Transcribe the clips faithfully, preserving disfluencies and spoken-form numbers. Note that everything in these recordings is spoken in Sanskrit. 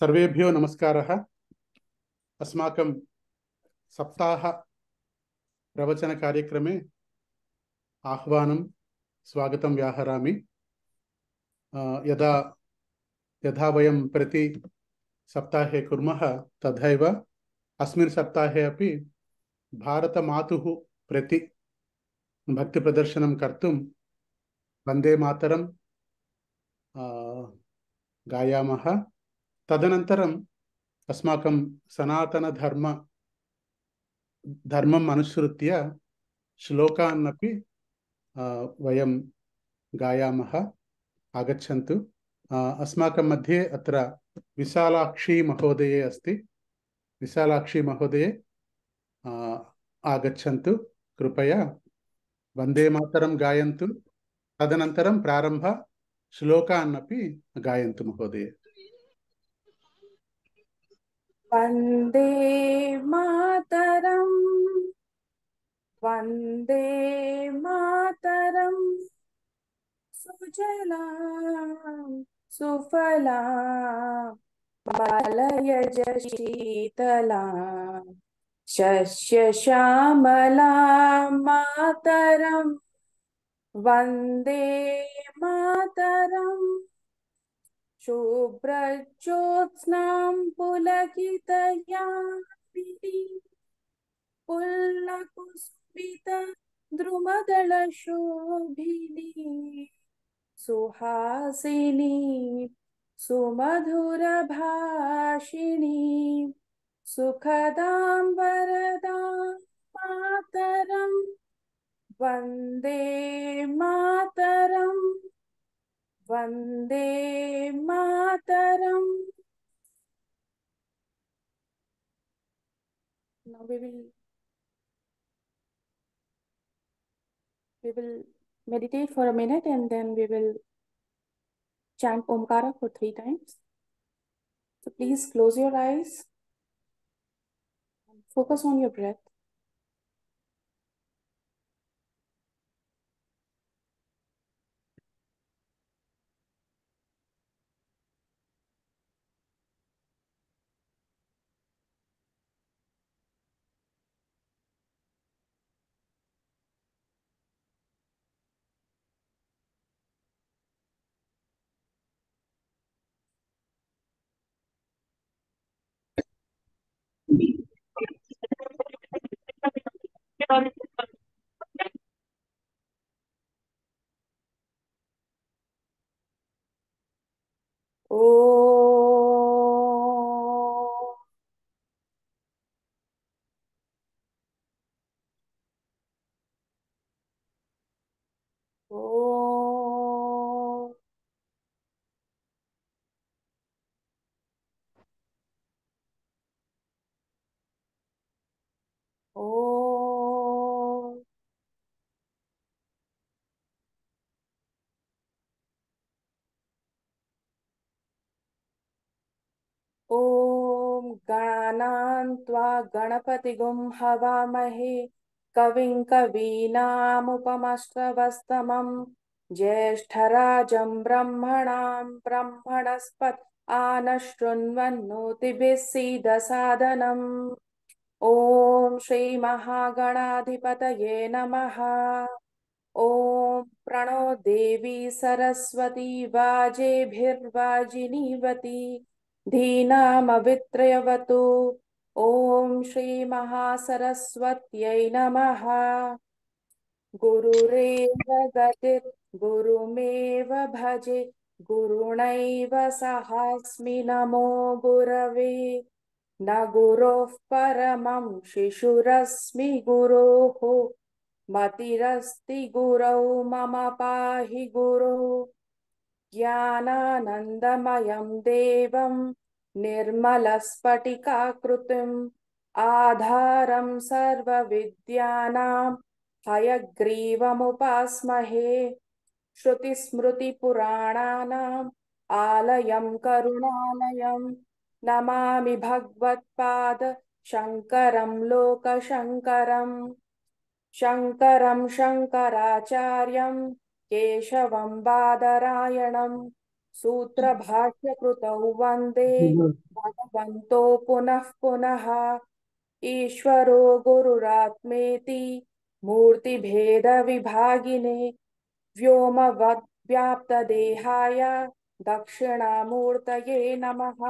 सर्वेभ्यो नमस्कारः। अस्माकं सप्ताह प्रवचन कार्यक्रमे आह्वानं स्वागतं व्याहरामि। यदा यथा वयं प्रति सप्ताहे कुर्मः तथैव अस्मिन् सप्ताहे अपि भारतमातुः प्रति भक्तिप्रदर्शनं कर्तुं वन्दे मातरं गायामः। तदनन्तरम् अस्माकं सनातनधर्म धर्मम् अनुसृत्य श्लोकान् अपि वयं गायामः। आगच्छन्तु। अस्माकं मध्ये अत्र विशालाक्षी महोदये अस्ति। विशालाक्षी महोदये आगच्छन्तु कृपया। वन्दे मातरं गायन्तु। तदनन्तरं प्रारम्भ श्लोकान् अपि गायन्तु महोदये। वन्दे मातरं वन्दे मातरं सुजलां सुफलां मलयज शीतलां शस्यश्यामलां मातरं वन्दे मातरम् शुभ्रज्योत्स्नां पुलकितयामिनी पुल्लकुसुमित द्रुमदलशोभिनी सुहासिनी सुमधुरभाषिणी सुखदां वरदां मातरं Vande Mataram Vande Mataram. Now we will we will meditate for a minute and then we will chant Omkara for three times. So please close your eyes and focus on your breath. ॐ गणानान्त्वा गणपतिगुं हवामहे कविं कवीनामुपमश्रवस्तमं ज्येष्ठराजं ब्रह्मणां ब्रह्मणस्पत आनशृण्वन्नोतिभिः सीदसादनम्। ॐ श्रीमहागणाधिपतये नमः। ॐ प्रणो देवी सरस्वती वाजेभिर्वाजिनीवती धीनामवित्रयवतु। ॐ श्रीमहासरस्वत्यै नमः। गुरुरेव गतिर् गुरुमेव भजे गुरुणैव सहास्मि नमो गुरवे। न गुरोः परमं शिशुरस्मि गुरोः मतिरस्ति गुरौ मम पाहि गुरो। ज्ञानानन्दमयं देवं निर्मलस्फटिकाकृतिम् आधारं सर्वविद्यानां हयग्रीवमुपास्महे। श्रुतिस्मृतिपुराणानाम् आलयं करुणालयं नमामि भगवत्पाद शङ्करं लोकशङ्करम्। शङ्करं शङ्कराचार्यं केशवं बादरायणं सूत्रभाष्यकृतौ वन्दे भगवन्तो पुनः पुनः ईश्वरो गुरुरात्मेति मूर्तिभेदविभागिने व्योमवद्व्याप्तदेहाय दक्षिणामूर्तये नमः।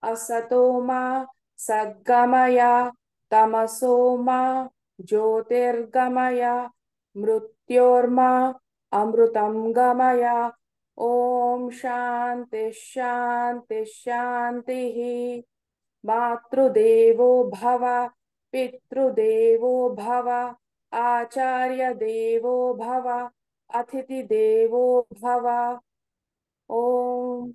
असतो मा सद्गमय तमसो मा ज्योतिर्गमय मृत्योर्मा अमृतं गमय। ॐ शान्ति शान्ति शान्तिः। मातृदेवो भव पितृदेवो भव आचार्यदेवो भव अतिथिदेवो भव। ॐ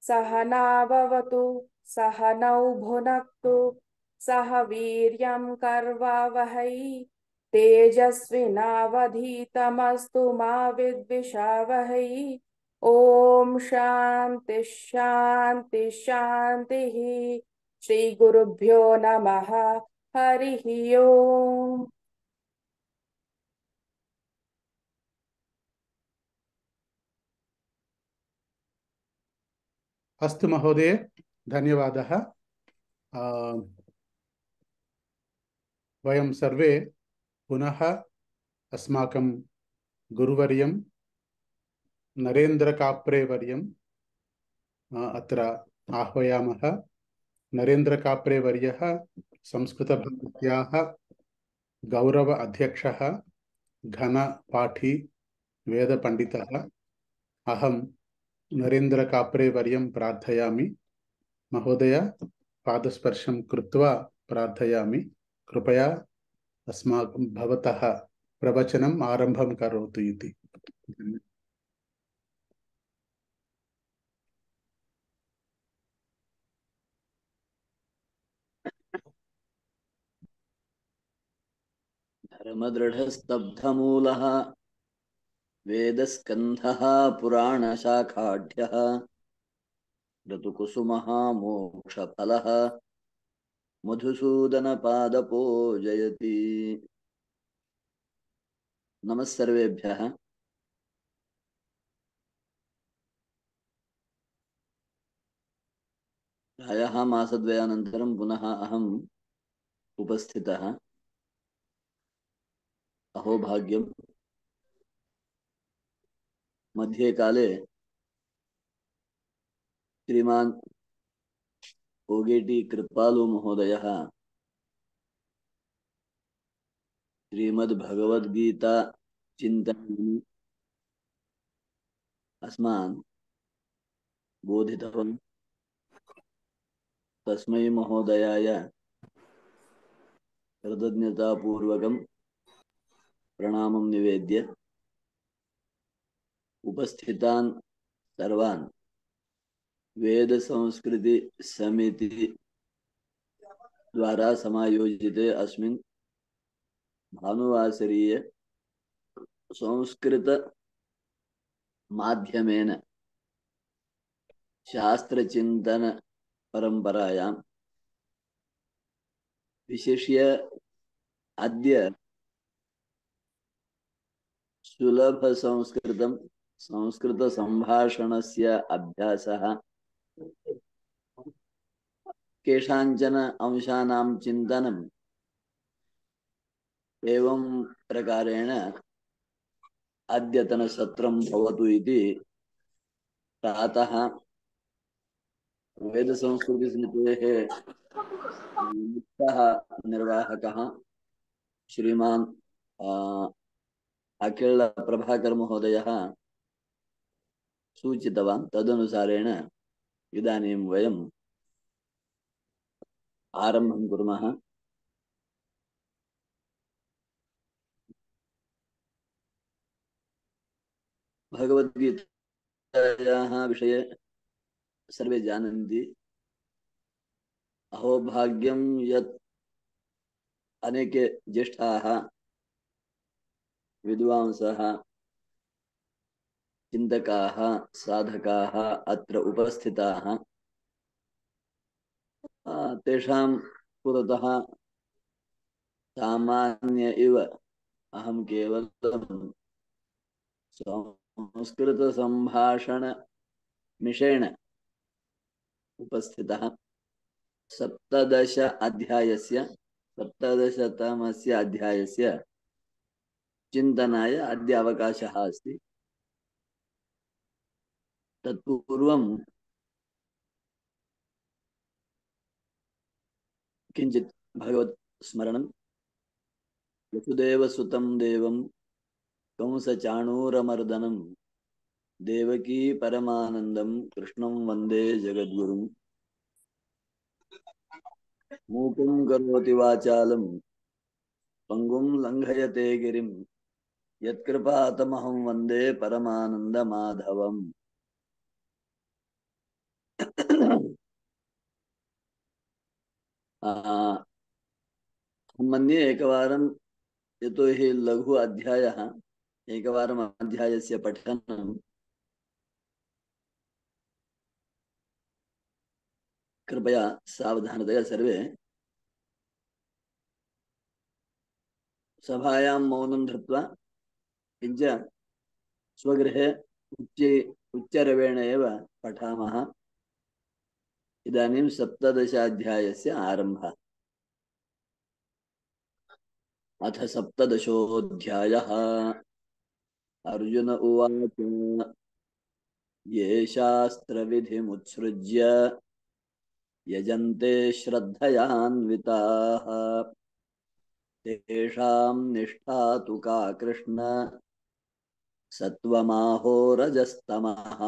सहनाववतु सहनौ भुनक्तु सह वीर्यं कर्वावहै तेजस्विनावधीतमस्तु मा विद्विषावहै। ॐ शान्ति शान्ति शान्तिः। श्री गुरुभ्यो नमः। हरिः ओम्। अस्तु महोदय, धन्यवादः। वयं सर्वे पुनः अस्माकं गुरुवर्यं नरेन्द्र काप्रे वर्यं अत्र आह्वयामः। नरेन्द्र काप्रे वर्यः संस्कृतभारत्याः गौरव अध्यक्षः, घनपाठी, वेदपण्डितः। अहं नरेन्द्र काप्रे वर्यं प्रार्थयामि। महोदय, पादस्पर्शं कृत्वा प्रार्थयामि, कृपया अस्माकं भवतः प्रवचनम् आरम्भं करोतु इति। धर्मदृढस्तब्धमूलः वेदस्कन्धः पुराणशाखाढ्यः ऋतुकुसुमः मोक्षफलः मधुसूदनपादपो जयति। नमः सर्वेभ्यः। प्रायः मासद्वयानन्तरं पुनः अहम् उपस्थितः। अहोभाग्यं मध्ये काले श्रीमान् ओगेटी कृपालु महोदयः श्रीमद्भगवद्गीता चिन्तनं अस्मान् बोधितवान्। तस्मै महोदयाय कृतज्ञतापूर्वकं प्रणामं निवेद्य उपस्थितान् सर्वान् वेद संस्कृति समिति द्वारा समायोजिते अस्मिन् भानुवासरीय संस्कृत माध्यमेन शास्त्रचिन्तन परंपरायां विशिष्य अद्य सुलभ संस्कृतं संस्कृत संभाषणस्य अभ्यासः केषाञ्चन अंशानां चिन्तनम् एवं प्रकारेण अद्यतन सत्रं भवतु इति प्रातः वेद संस्कृति समितेः मुख्यः निर्वाहकः श्रीमान् अखिल प्रभाकर महोदयः सूचितवान्। तदनुसारेण इदानीं वयम् आरम्भं कुर्मः। भगवद्गीतायाः विषये सर्वे जानन्ति। अहोभाग्यं यत् अनेके ज्येष्ठाः विद्वांसः चिन्तकाः साधकाः अत्र उपस्थिताः। तेषां पुरतः सामान्य इव अहं केवलं संस्कृत संभाषण मिषेण उपस्थितः सप्तदश अध्यायस्य सप्तदशतमस्य अध्यायस्य चिन्तनाय अद्य अवकाशः अस्ति। तत्पूर्वं किञ्चित् भगवत् स्मरणं। वसुदेवसुतं देवं कंसचाणूरमर्दनं देवकी परमानन्दं कृष्णं वन्दे जगद्गुरुं। मूकं करोति वाचालं पंगुं लंघयते गिरिं यत्कृपातमहं वन्दे परमानन्दमाधवम्। मन्ये एकवारं यतो हि लघु अध्यायः एकवारम् अध्यायस्य पठनं कृपया सावधानतया सर्वे सभायां मौनं धृत्वा किञ्च स्वगृहे उच्च उच्चरवेण एव पठामः। इदानीं सप्तदशाध्यायस्य आरम्भः। अथ सप्तदशोऽध्यायः। अर्जुन उवाच ये शास्त्रविधिमुत्सृज्य यजन्ते श्रद्धयान्विताः तेषां निष्ठा तु का कृष्ण सत्त्वमाहो रजस्तमः।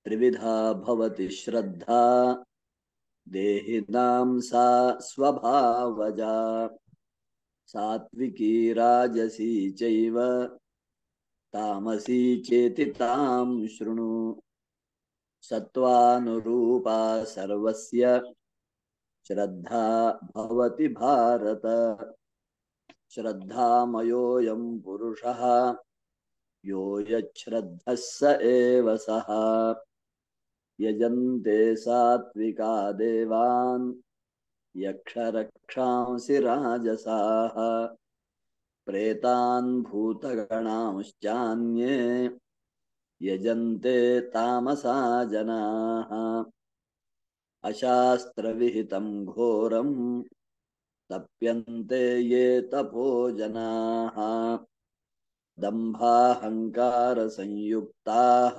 त्रिविधा भवति श्रद्धा देहिनां सा स्वभावजा सात्विकी राजसी चैव तामसी चेति तां शृणु। सत्त्वानुरूपा सर्वस्य श्रद्धा भवति भारत। श्रद्धामयोऽयं पुरुषः यो यच्छ्रद्धः स एव सः। यजन्ते सात्विका देवान् यक्षरक्षांसि राजसाः प्रेतान् भूतगणांश्चान्ये यजन्ते तामसा जनाः। अशास्त्रविहितं घोरं तप्यन्ते ये तपो जनाः दम्भाहंकारसंयुक्ताः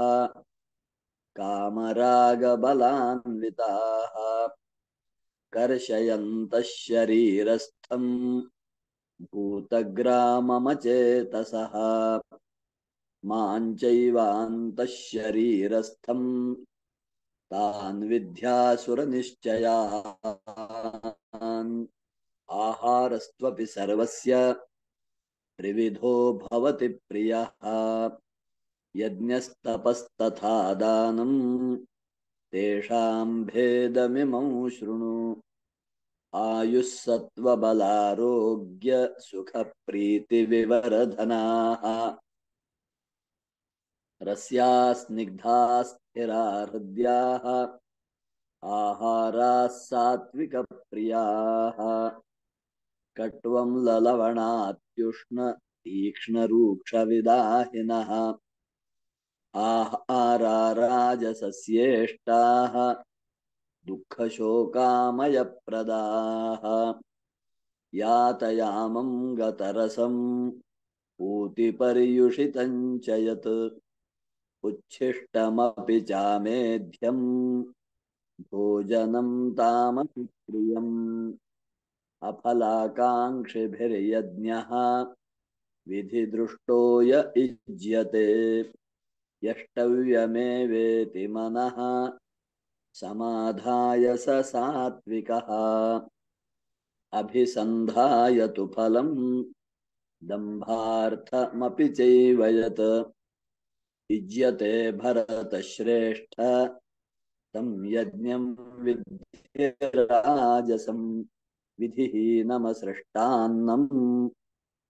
कामरागबलान्विताः कर्षयन्तः शरीरस्थं भूतग्राममचेतसः मां चैवान्तः शरीरस्थं तान् विद्यासुरनिश्चयान्। आहारस्त्वपि सर्वस्य त्रिविधो भवति प्रियः यज्ञस्तपस्तथा दानं तेषां भेदमिमं शृणु। आयुस्सत्त्वबलारोग्य सुखप्रीतिविवर्धनाः रस्या स्निग्धा स्थिरा हृद्याः आहाराः सात्विकप्रियाः कट्वं ललवणात्युष्ण तीक्ष्णरूक्षविदाहिनः आहारा राजसस्येष्टाः दुःखशोकामयप्रदाः यातयामं गतरसं पूतिपर्युषितं च यत् उच्छिष्टमपि चामेध्यं भोजनं तामसि प्रियम्। अफलाकाङ्क्षिभिर्यज्ञः विधिदृष्टो य युज्यते यष्टव्यमेवेति मनः समाधाय स सात्विकः। अभिसन्धाय तु फलं दम्भार्थमपि चैव यत् युज्यते भरतश्रेष्ठ तं यज्ञं विद्धि राजसं। विधिहीनमसृष्टान्नं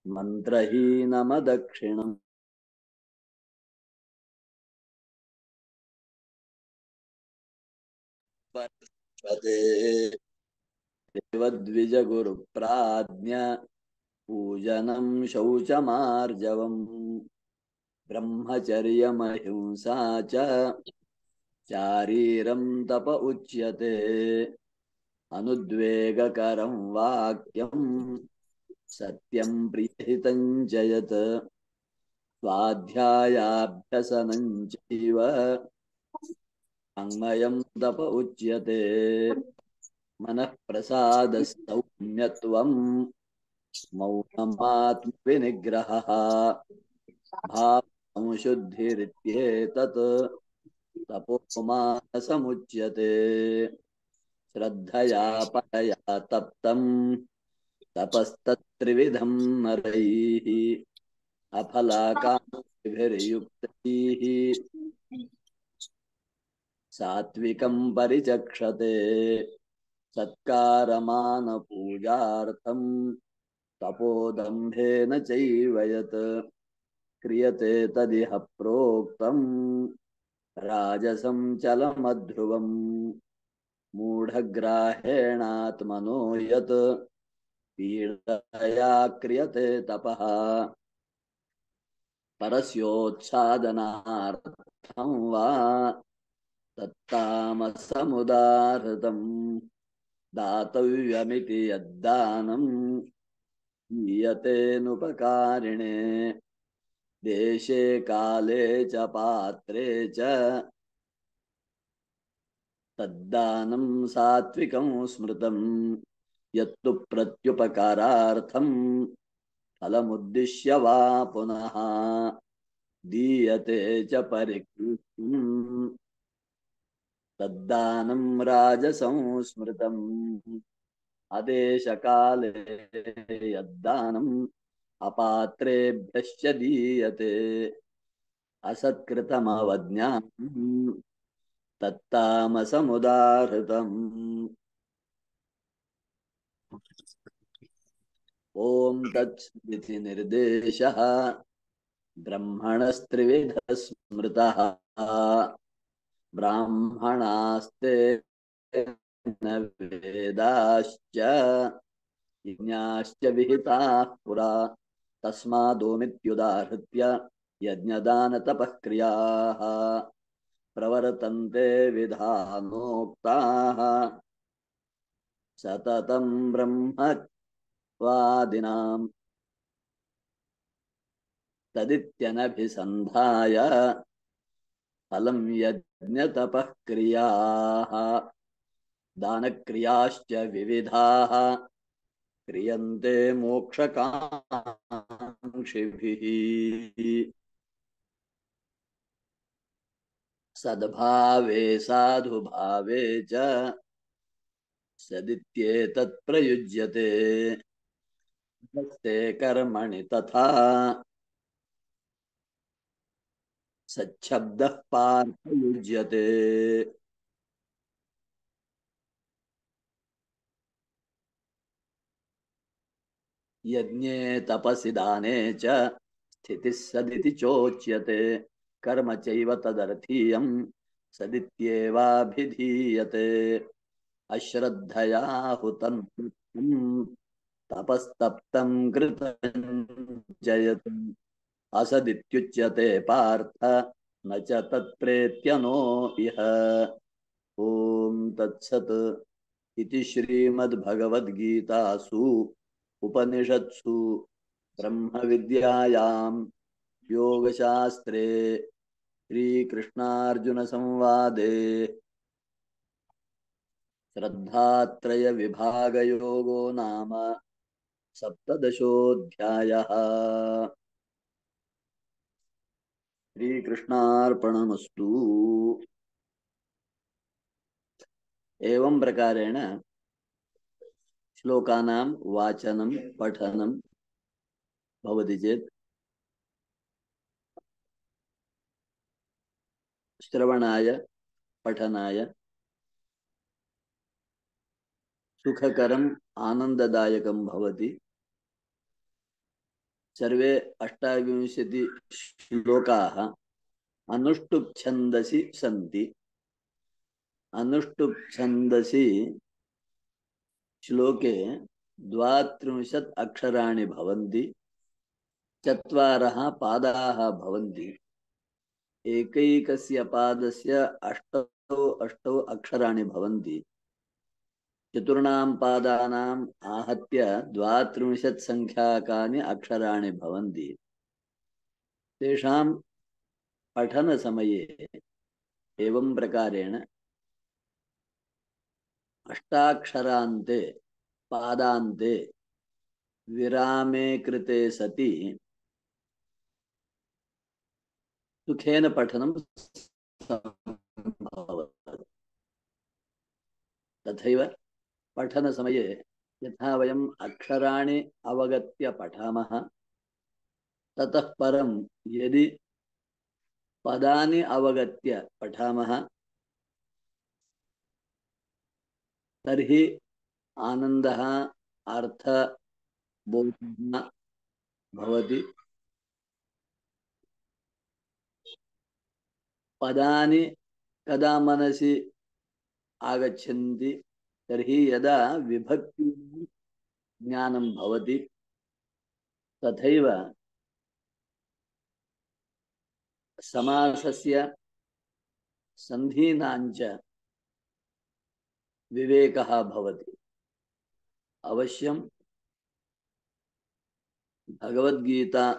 मन्त्रहीनमदक्षिणम्। देवद्विजगुरुप्राज्ञ पूजनं शौचमार्जवम् ब्रह्मचर्यमहिंसा च चारीरं तप उच्यते अनुद्वेगकरं वाक्यं सत्यं प्रियहितं च यत् स्वाध्यायाभ्यसनं चैव वाङ्मयं तप उच्यते मनः प्रसादः सौम्यत्वं मौनमात्मविनिग्रहः भावसंशुद्धिरित्येतत् तपोमानसमुच्यते श्रद्धया परया तप्तं तपस्तत्त्रिविधं नरैः अफलाकाङ्क्षिभिर्युक्तैः सात्विकं परिचक्षते सत्कारमानपूजार्थं तपोदम्भेन चैव यत् क्रियते तदिह प्रोक्तं राजसं चलमध्रुवम् मूढग्राहेणात्मनो यत् पीडया क्रियते तपः परस्योत्सादनार्थं वा तत्तामसमुदाहृतं दातव्यमिति यद्दानं दीयतेनुपकारिणे देशे काले च पात्रे च तद्दानं सात्विकं स्मृतं यत्तु प्रत्युपकारार्थं फलमुद्दिश्य वा पुनः दीयते च परिकृष्टम् तद्दानं राजसं स्मृतम् आदेशकाले यद्दानम् अपात्रेभ्यश्च दीयते असत्कृतमवज्ञानम् तत्तामसमुदाहृतम् ॐ तत्सदिति निर्देशः ब्रह्मणस्त्रिविधः स्मृतः ब्राह्मणास्ते न वेदाश्च यज्ञाश्च विहिताः पुरा तस्मादोमित्युदाहृत्य यज्ञदानतपःक्रियाः प्रवर्तन्ते विधानोक्ताः सततं ब्रह्मवादिनां तदित्यनभिसन्धाय फलं यज्ञतपःक्रियाः दानक्रियाश्च विविधाः क्रियन्ते मोक्षकाङ्क्षिभिः सद्भावे साधुभावे च सदित्येतत् प्रयुज्यते ते कर्मणि तथा सच्छब्दः पार्थयुज्यते यज्ञे तपसि दाने च स्थितिः सदिति चोच्यते कर्म चैव तदर्थीयं सदित्येवाभिधीयते अश्रद्धया हुतं तपस्तप्तं कृतं जयत् असदित्युच्यते पार्थ न च तत्प्रेत्यनो इह ॐ तत्सत् इति श्रीमद्भगवद्गीतासु उपनिषत्सु ब्रह्मविद्यायां योगशास्त्रे श्रीकृष्णार्जुनसंवादे श्रद्धात्रयविभागयोगो नाम सप्तदशोऽध्यायः। श्रीकृष्णार्पणमस्तु। एवं प्रकारेण श्लोकानां वाचनं पठनं भवति चेत् श्रवणाय पठनाय सुखकरम् आनन्ददायकं भवति। सर्वे अष्टाविंशति श्लोकाः अनुष्टुप् छन्दसि सन्ति। अनुष्टुप् छन्दसि श्लोके द्वात्रिंशत् अक्षराणि भवन्ति, चत्वारः पादाः भवन्ति। एकैकस्य पादस्य अष्टौ अष्टौ अक्षराणि भवन्ति। चतुर्णां पादानाम् आहत्य द्वात्रिंशत् संख्याकानि अक्षराणि भवन्ति। तेषां पठनसमये एवं प्रकारेण अष्टाक्षरान्ते पादान्ते विरामे कृते सति सुखेन पठनं सम्भवति। तथैव पठनसमये यथा वयम् अक्षराणि अवगत्य पठामः, ततः परं यदि पदानि अवगत्य पठामः तर्हि आनन्दः अर्थबोधः भवति। पदानि कदा मनसि आगच्छन्ति तर्हि यदा विभक्ति ज्ञानं भवति, तथैव समासस्य सन्धीनाञ्च विवेकः भवति। अवश्यं भगवद्गीता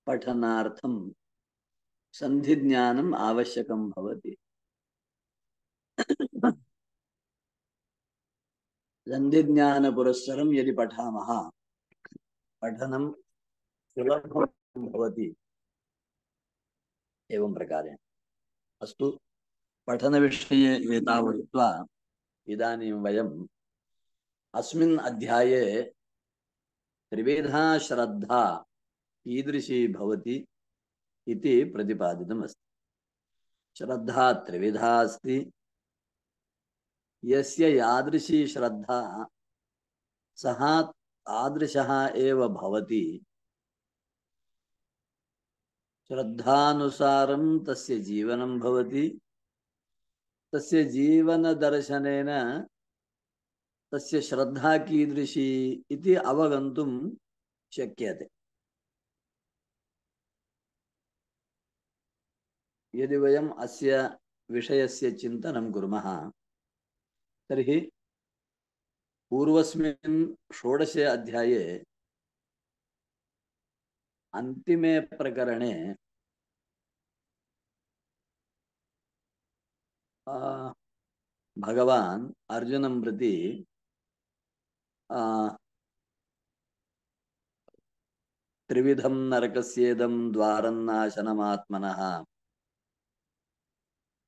पठनार्थं सन्धिज्ञानम् आवश्यकं भवति। सन्धिज्ञानपुरस्सरं यदि पठामः पठनं सुलभं भवति। एवं प्रकारेण अस्तु, पठनविषये एतावत्त्वा इदानीं वयम् अस्मिन् अध्याये त्रिविधा श्रद्धा कीदृशी भवति इति प्रतिपादितमस्ति। श्रद्धा त्रिविधा अस्ति। यस्य यादृशी श्रद्धा सः तादृशः एव भवति। श्रद्धानुसारं तस्य जीवनं भवति। तस्य जीवनदर्शनेन तस्य श्रद्धा कीदृशी इति अवगन्तुं शक्यते। यदि वयम् अस्य विषयस्य चिन्तनं कुर्मः तर्हि पूर्वस्मिन् षोडशे अध्याये अन्तिमे प्रकरणे भगवान् अर्जुनं प्रति त्रिविधं नरकस्येदं द्वारन्नाशनमात्मनः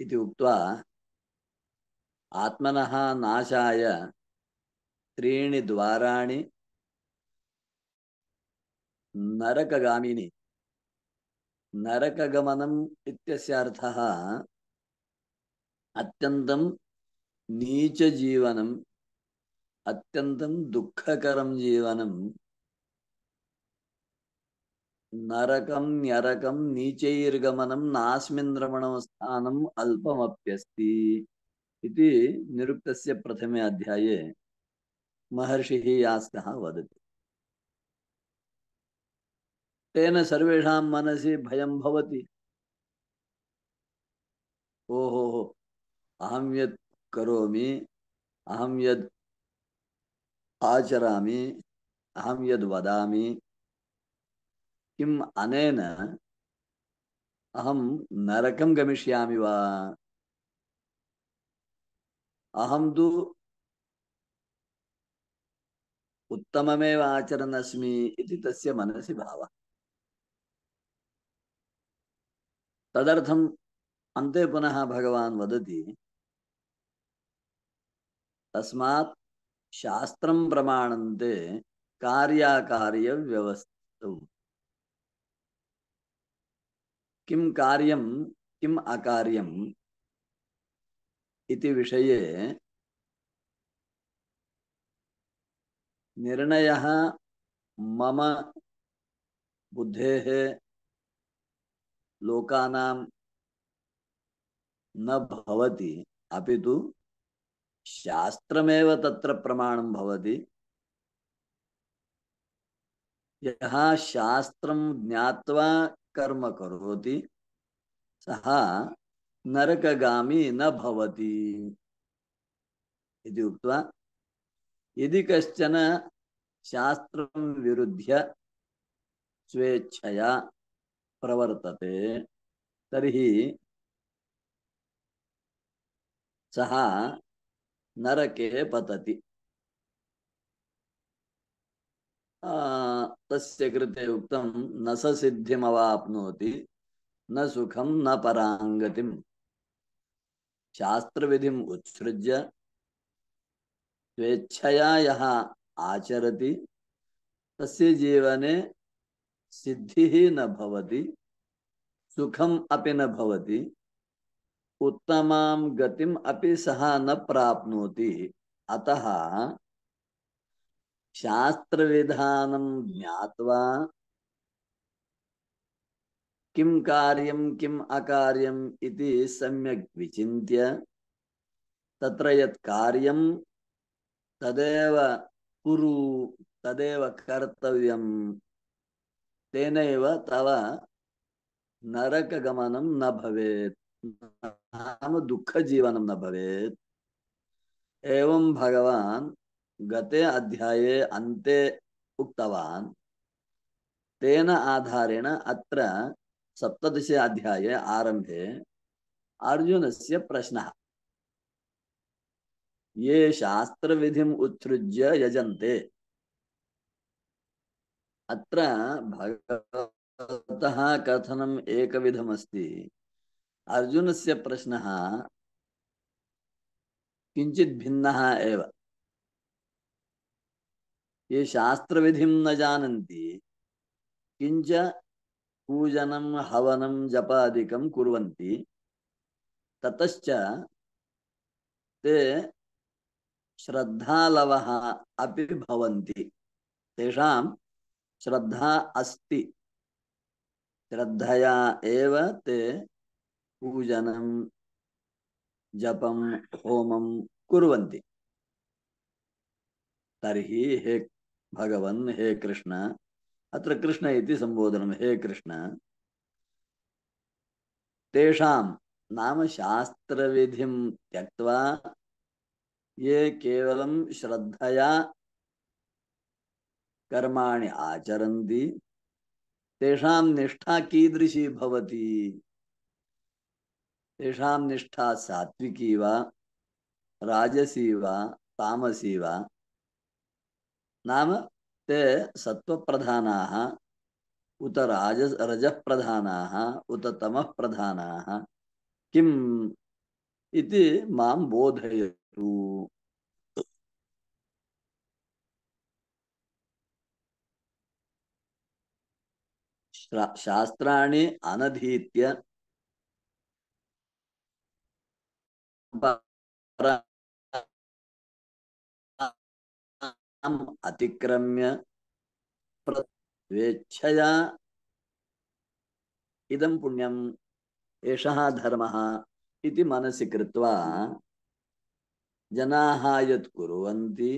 इति उक्त्वा आत्मनः नाशाय त्रीणि द्वाराणि नरकगामिनि। नरकगमनम् इत्यस्य अर्थः अत्यन्तं नीचजीवनम्, अत्यन्तं दुःखकरं जीवनं। नरकं न्यरकं नीचैर्गमनं नास्मिन् रमणो स्थानम् अल्पमप्यस्ति इति निरुक्तस्य प्रथमे अध्याये महर्षिः यास्कः वदति। तेन सर्वेषां मनसि भयं भवति। ओहो, अहं यत् करोमि, अहं यद् आचरामि, अहं यद् वदामि, किम् अनेन अहं नरकं गमिष्यामि वा? अहं तु उत्तममेव आचरन् अस्मि इति तस्य मनसि भावः। तदर्थम् अन्ते पुनः भगवान् वदति, तस्मात् शास्त्रं प्रमाणन्ते कार्याकार्यव्यवस्थितौ। किं कार्यं किम् अकार्यम् इति विषये निर्णयः मम बुद्धेः लोकानां न भवति, अपितु शास्त्रमेव तत्र प्रमाणं भवति। यः शास्त्रं ज्ञात्वा कर्म करोति सः नरकगामी न भवति इति उक्त्वा यदि कश्चन शास्त्रं विरुध्य स्वेच्छया प्रवर्तते तर्हि सः नरके पतति। तस्य कृते उक्तं न स सिद्धिमवाप्नोति न सुखं न पराङ्गतिम्। शास्त्रविधिम् उत्सृज्य स्वेच्छया यः आचरति तस्य जीवने सिद्धिः न भवति, सुखम् अपि न भवति, उत्तमां गतिम् अपि सः न प्राप्नोति। अतः शास्त्रविधानं ज्ञात्वा किं कार्यं किम् अकार्यम् इति सम्यक् विचिन्त्य तत्र यत् कार्यं तदेव कुरु, तदेव कर्तव्यं, तेनैव तव नरकगमनं न भवेत्, नाम दुःखजीवनं न भवेत्। एवं भगवान् गते अध्याये अन्ते उक्तवान्। तेन आधारेण अत्र सप्तदशे अध्याये आरम्भे अर्जुनस्य प्रश्नः। ये शास्त्रविधिम् उत्सृज्य यजन्ते, अत्र भगवतः कथनम् एकविधमस्ति। अर्जुनस्य प्रश्नः किञ्चित् भिन्नः एव। ये शास्त्रविधिं न जानन्ति किञ्च पूजनं हवनं जपादिकं कुर्वन्ति, ततश्च ते श्रद्धालवः अपि भवन्ति। तेषां श्रद्धा अस्ति, श्रद्धया एव ते पूजनं जपं होमं कुर्वन्ति। तर्हि हे भगवन्, हे कृष्ण, अत्र कृष्ण इति संबोधनं, हे कृष्ण, तेषां नाम शास्त्रविधिं त्यक्त्वा ये केवलं श्रद्धया कर्माणि आचरन्ति तेषां निष्ठा कीदृशी भवति? तेषां निष्ठा सात्विकी वा राजसी वा तामसी वा? नाम ते सत्वप्रधानाः उत राजस रजप्रधानाः उत तमःप्रधानाः किम् इति मां बोधयतु। शास्त्राणि अनधीत्य अतिक्रम्य स्वेच्छया इदं पुण्यम् एषः धर्मः इति मनसि कृत्वा जनाः यत् कुर्वन्ति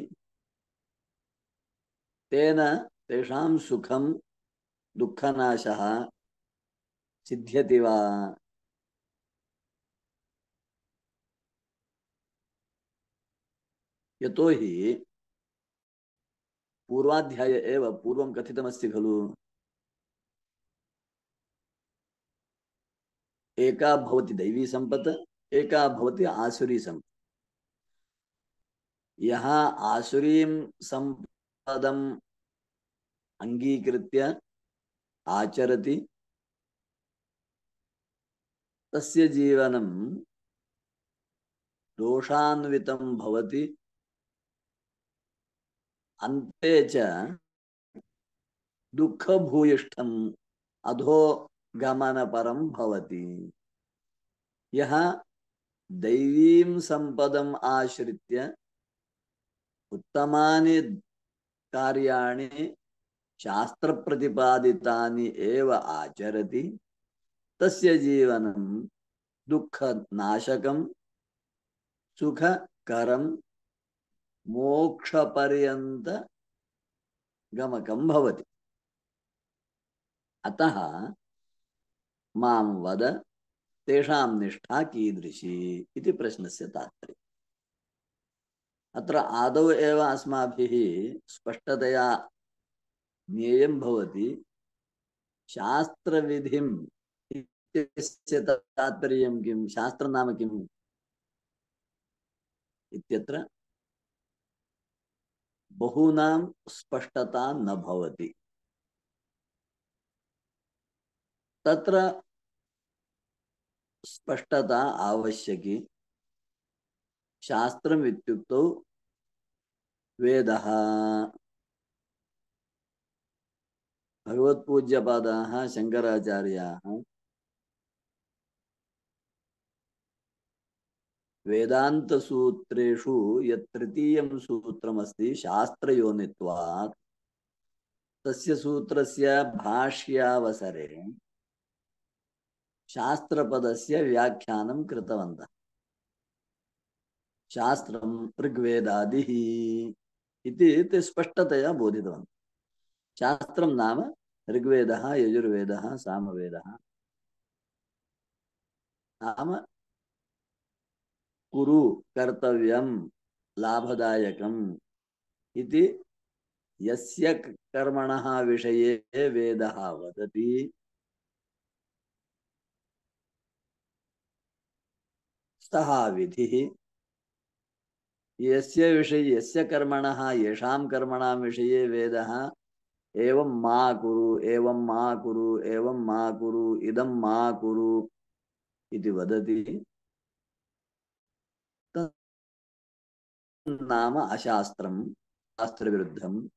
तेन तेषां सुखं दुःखनाशः सिद्ध्यति वा? यतो हि पूर्वाध्याये एव पूर्वं कथितमस्ति खलु, एका भवति दैवी संपत्, एका भवति आसुरी संपत्। यः आसुरीं संपदम् अंगीकृत्य आचरति तस्य जीवनं दोषान्वितं भवति, अन्ते च दुःखभूयिष्ठम् अधो गमनपरं भवति। यः दैवीं संपदम् आश्रित्य उत्तमानि कार्याणि शास्त्रप्रतिपादितानि एव आचरति तस्य जीवनं दुःखनाशकं सुखकरं मोक्षपर्यन्त गमकं भवति। अतः मां वद तेषां निष्ठा कीदृशी इति प्रश्नस्य तात्पर्यम्। अत्र आदौ एव अस्माभिः स्पष्टतया ज्ञेयं भवति शास्त्रविधिम् इत्यस्य तात्पर्यं किं, शास्त्रं नाम किम् इत्यत्र बहूनां स्पष्टता न भवति। तत्र स्पष्टता आवश्यकी। शास्त्रम् इत्युक्तौ वेदः। भगवत्पूज्यपादाः शङ्कराचार्याः वेदान्तसूत्रेषु यत् तृतीयं सूत्रमस्ति शास्त्रयोनित्वात्, तस्य सूत्रस्य भाष्यावसरे शास्त्रपदस्य व्याख्यानं कृतवन्तः। शास्त्रं ऋग्वेदादिः इति ते स्पष्टतया बोधितवन्तः। शास्त्रं नाम ऋग्वेदः, यजुर्वेदः, सामवेदः। नाम कुरु, कर्तव्यं, लाभदायकम् इति यस्य कर्मणः विषये वेदः वदति सः विधिः। यस्य विषये यस्य कर्मणः येषां कर्मणां विषये वेदः एवं मा कुरु, एवं मा कुरु, एवं मा कुरु, इदं मा कुरु इति वदति, नाम अशास्त्रं, शास्त्रविरुद्धं,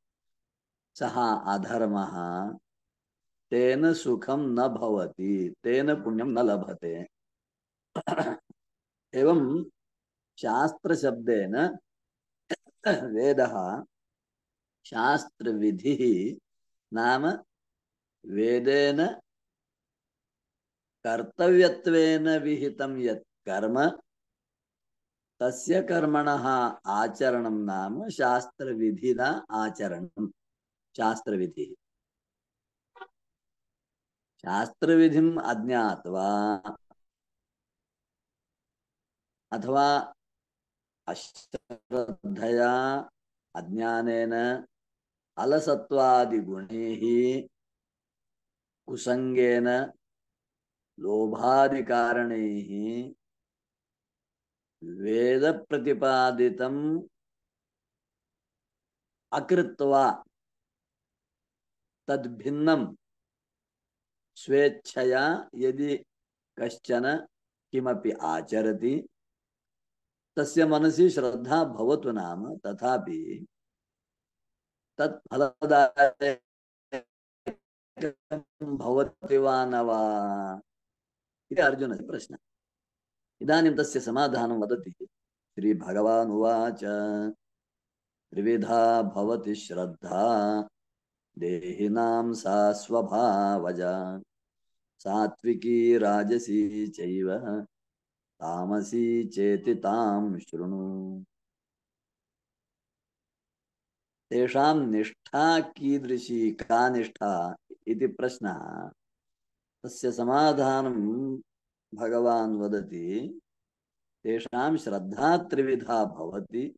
सः अधर्मः, तेन सुखं न भवति, तेन पुण्यं न लभते। एवं शास्त्रशब्देन वेदः शास्त्रविधिः नाम वेदेन कर्तव्यत्वेन विहितं यत् कर्म, तस्य कर्मणः आचरणं नाम शास्त्रविधिना आचरणं। शास्त्रविधिः। शास्त्रविधिम् अज्ञात्वा अथवा अश्रद्धया, अज्ञानेन, अलसत्वादिगुणैः, कुसंगेन, लोभादिकारणैः वेद प्रतिपादितम् अकृत्वा तद्भिन्नं स्वेच्छया यदि कश्चन किमपि आचरति, तस्य मनसि श्रद्धा भवतु नाम, तथापि तत् फलदायकं भवति वा न वा इति अर्जुनस्य प्रश्नः। इदानीं तस्य समाधानं वदति श्रीभगवान् उवाच। त्रिविधा भवति श्रद्धा देहिनां सा स्वभावजा, सात्विकी राजसी चैव तामसी चेति तां शृणु। तेषां निष्ठा कीदृशी, का निष्ठा इति प्रश्नः। तस्य समाधानं भगवान् वदति तेषां श्रद्धा त्रिविधा भवति।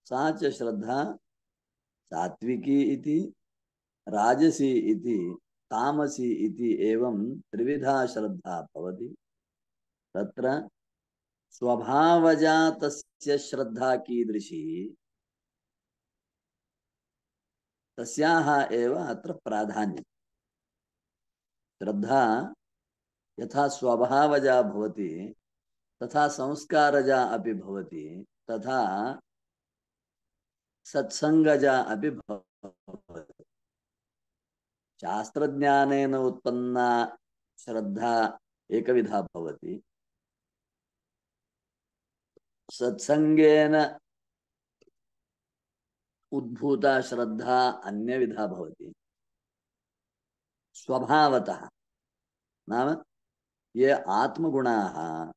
सा च श्रद्धा सात्विकी इति, राजसी इति, तामसी इति एवं त्रिविधा श्रद्धा भवति। तत्र स्वभावजा तस्य श्रद्धा कीदृशी, तस्याः एव अत्र प्राधान्यम्। श्रद्धा यथा स्वभावजा भवति तथा संस्कारजा अपि भवति, तथा सत्संगजा अपि भवति। शास्त्रज्ञानेन उत्पन्ना श्रद्धा एकविधा भवति, सत्संगेन उद्भूता श्रद्धा अन्यविधा भवति। स्वभावतः नाम ये आत्मगुणाः,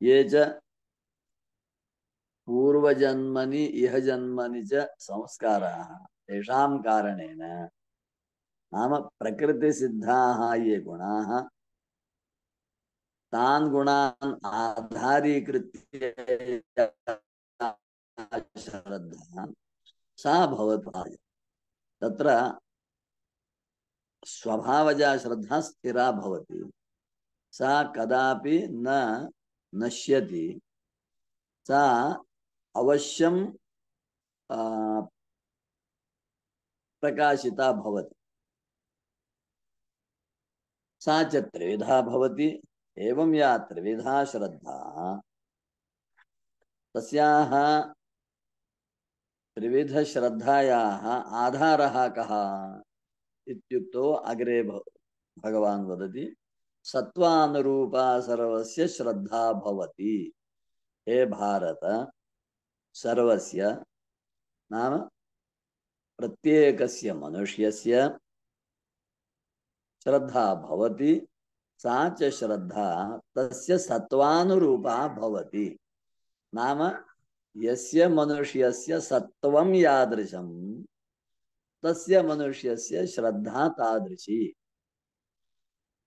ये च पूर्वजन्मनि इह जन्मनि च संस्काराः, तेषां कारणेन नाम प्रकृतिसिद्धाः ये गुणाः तान् गुणान् आधारीकृत्य श्रद्धा सा भवति। तत्र स्वभावजा श्रद्धा स्थिरा भवति, सा कदापि न नश्यति, सा अवश्यं प्रकाशिता भवति। सा च त्रिविधा भवति। एवं या त्रिविधा श्रद्धा तस्याः त्रिविध श्रद्धायाः आधारः कः इत्युक्तौ अग्रे भगवान् वदति सत्त्वानुरूपा सर्वस्य श्रद्धा भवति। हे भारत, सर्वस्य नाम प्रत्येकस्य मनुष्यस्य श्रद्धा भवति, सा च श्रद्धा तस्य सत्त्वानुरूपा भवति। नाम यस्य मनुष्यस्य सत्त्वं यादृशं तस्य मनुष्यस्य श्रद्धा तादृशी।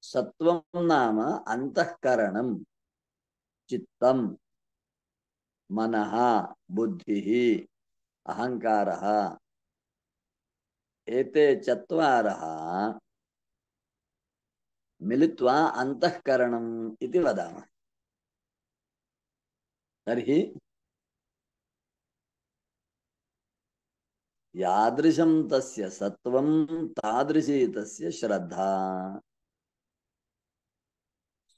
सत्त्वं नाम अंतःकरणं, चित्तं, मनः, बुद्धिः, अहंकारः, एते चत्वारः मिलित्वा अंतःकरणम् इति वदामः। तर्हि यादृशं तस्य सत्त्वं तादृशी तस्य श्रद्धा।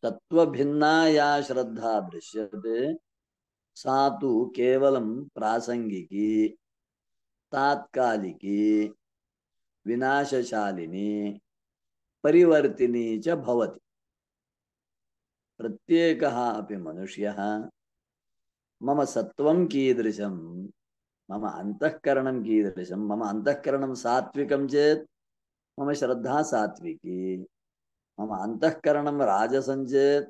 सत्त्वभिन्ना या श्रद्धा दृश्यते सा तु केवलं प्रासंगिकी, तात्कालिकी, विनाशशालिनी, परिवर्तिनी च भवति। प्रत्येकः अपि मनुष्यः मम सत्त्वं कीदृशं, मम अंतःकरणं कीदृशं, मम अंतःकरणं सात्विकं चेत् मम श्रद्धा सात्विकी, मम अंतःकरणं राजसं चेत्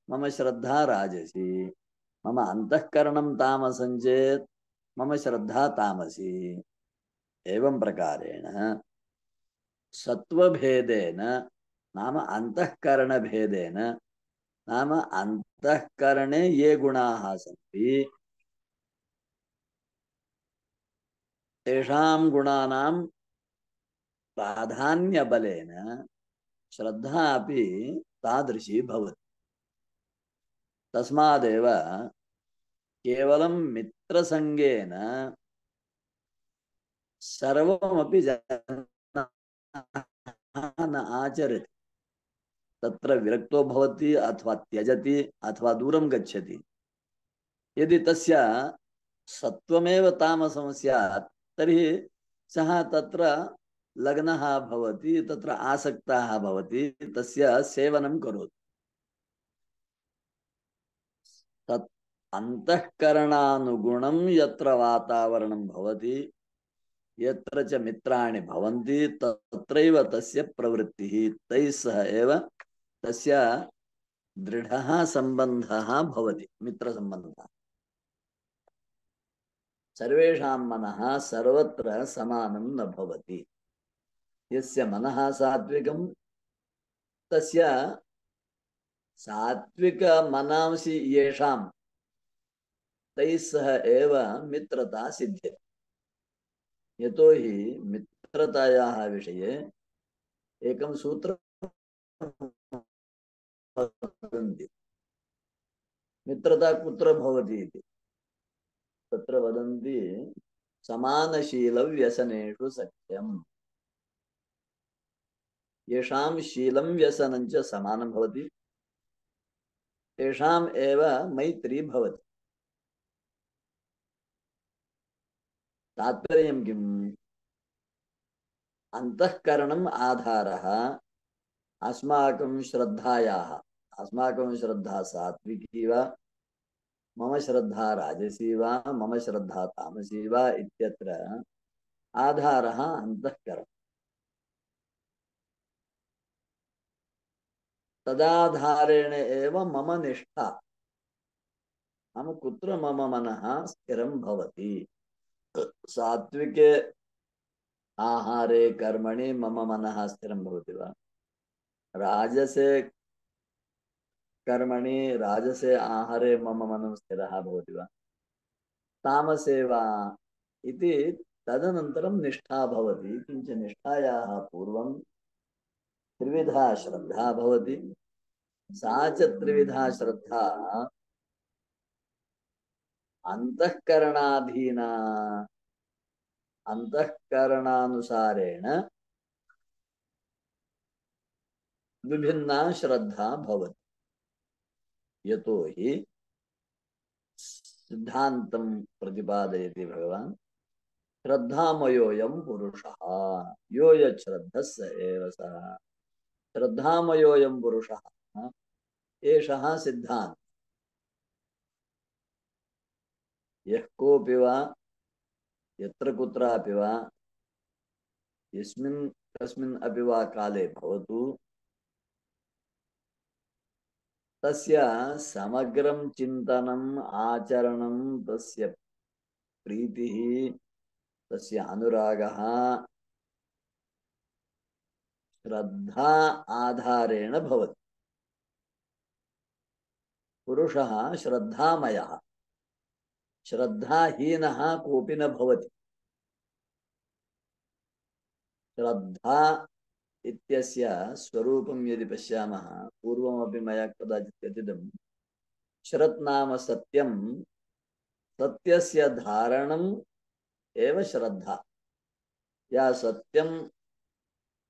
मम श्रद्धा राजसी, मम अंतःकरणं तामसं चेत् मम श्रद्धा तामसी। एवं प्रकारेण सत्त्वभेदेन नाम अंतःकरण भेदेन, नाम अंतःकरणे ये गुणाः सन्ति तेषां गुणानां प्राधान्य बलेन श्रद्धा अपि तादृशी भवति। तस्मादेव केवलं मित्रसंगेन सर्वमपि जनः न आचरति। तत्र विरक्तो भवति अथवा त्यजति अथवा दूरं गच्छति। यदि तस्य सत्त्वमेव तामसं स्यात् तर्हि सः तत्र लग्नः भवति, तत्र आसक्तः भवति, तस्य सेवनं करोति। तत् अंतःकरणानुगुणं यत्र वातावरणं भवति, यत्र च मित्राणि भवन्ति तत्रैव तस्य प्रवृत्तिः, तैः सह एव तस्य दृढः सम्बन्धः भवति, मित्रसम्बन्धः। सर्वेषां मनः सर्वत्र समानं न भवति। यस्य मनः सात्विकं तस्य सात्विक मनांसि येषां तैः सह एव मित्रता सिद्ध्यति। यतो हि मित्रतायाः विषये एकं सूत्रं वदन्ति। मित्रता कुत्र भवति इति तत्र वदन्ति समानशीलव्यसनेषु सख्यम्। येषां शीलं व्यसनं च समानं भवति तेषाम् एव मैत्री भवति। तात्पर्यं किम्? अंतःकरणम् आधारः अस्माकं श्रद्धायाः। अस्माकं श्रद्धा सात्विकी वा, मम श्रद्धा राजसी वा, मम श्रद्धा तामसी वा इत्यत्र आधारः अंतःकरणम्। तदाधारेण एव मम निष्ठा, नाम कुत्र मम मनः स्थिरं भवति। सात्विके आहारे कर्मणि मम मनः स्थिरं भवति वा, राजसे कर्मणि राजसे आहारे मम मनः स्थिरः भवति वा तामसे वा इति तदनन्तरं निष्ठा भवति। किञ्च निष्ठायाः पूर्वं त्रिविधा श्रद्धा भवति। सा च त्रिविधा श्रद्धा अंतःकरणाधीना अंतःकरणानुसारेण विभिन्ना श्रद्धा भवति। यतो हि सिद्धान्तं प्रतिपादयति भगवान् श्रद्धामयोऽयं पुरुषः यो यच्छ्रद्धः स एव सः। श्रद्धामयोऽयं पुरुषः एषः सिद्धान्तः। यः कोऽपि वा यत्र कुत्रापि वा यस्मिन् कस्मिन् अपि वा काले भवतु तस्य समग्रं चिन्तनम् आचरणं तस्य प्रीतिः तस्य अनुरागः श्रद्धा आधारेण भवति। पुरुषः श्रद्धामयः श्रद्धाहीनः कोऽपि न भवति। श्रद्धा इत्यस्य स्वरूपं यदि पश्यामः पूर्वमपि मया कदाचित् कथितं श्रत् नाम सत्यं सत्यस्य धारणम् एव श्रद्धा। या सत्यं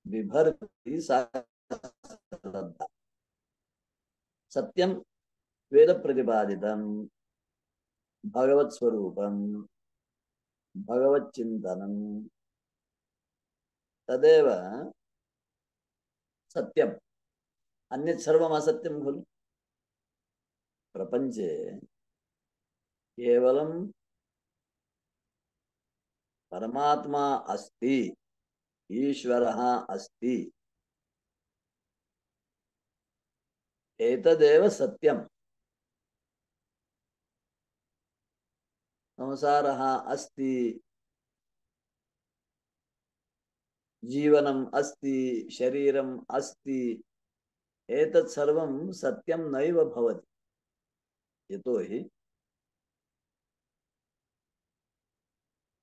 बिभर्ति सा श्रद्धा। सत्यं वेद प्रतिपादितं भगवत् स्वरूपं भगवत् चिन्तनं तदेव सत्यम्। अन्यत् सर्वम् असत्यं खलु। प्रपञ्चे केवलं परमात्मा अस्ति ईश्वरः अस्ति एतदेव सत्यम्। संसारः अस्ति जीवनम् अस्ति शरीरम् अस्ति एतत् सर्वं सत्यं नैव भवति। यतो हि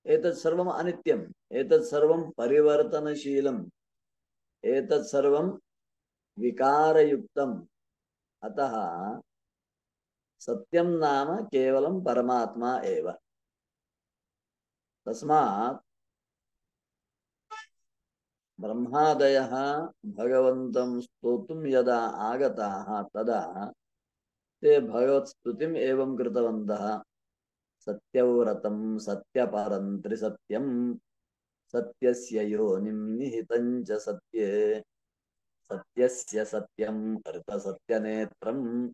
एतत् सर्वम् अनित्यम् एतत् सर्वं परिवर्तनशीलम् एतत् सर्वं विकारयुक्तम्। अतः सत्यं नाम केवलं परमात्मा एव। तस्मात् ब्रह्मादयः भगवन्तं स्तोतुं यदा आगताः तदा ते भगवत्स्तुतिम् एवं कृतवन्तः सत्यव्रतं सत्यपरं त्रिसत्यं सत्यस्य योनिं निहितं च सत्ये सत्यस्य सत्यं ऋतसत्यनेत्रं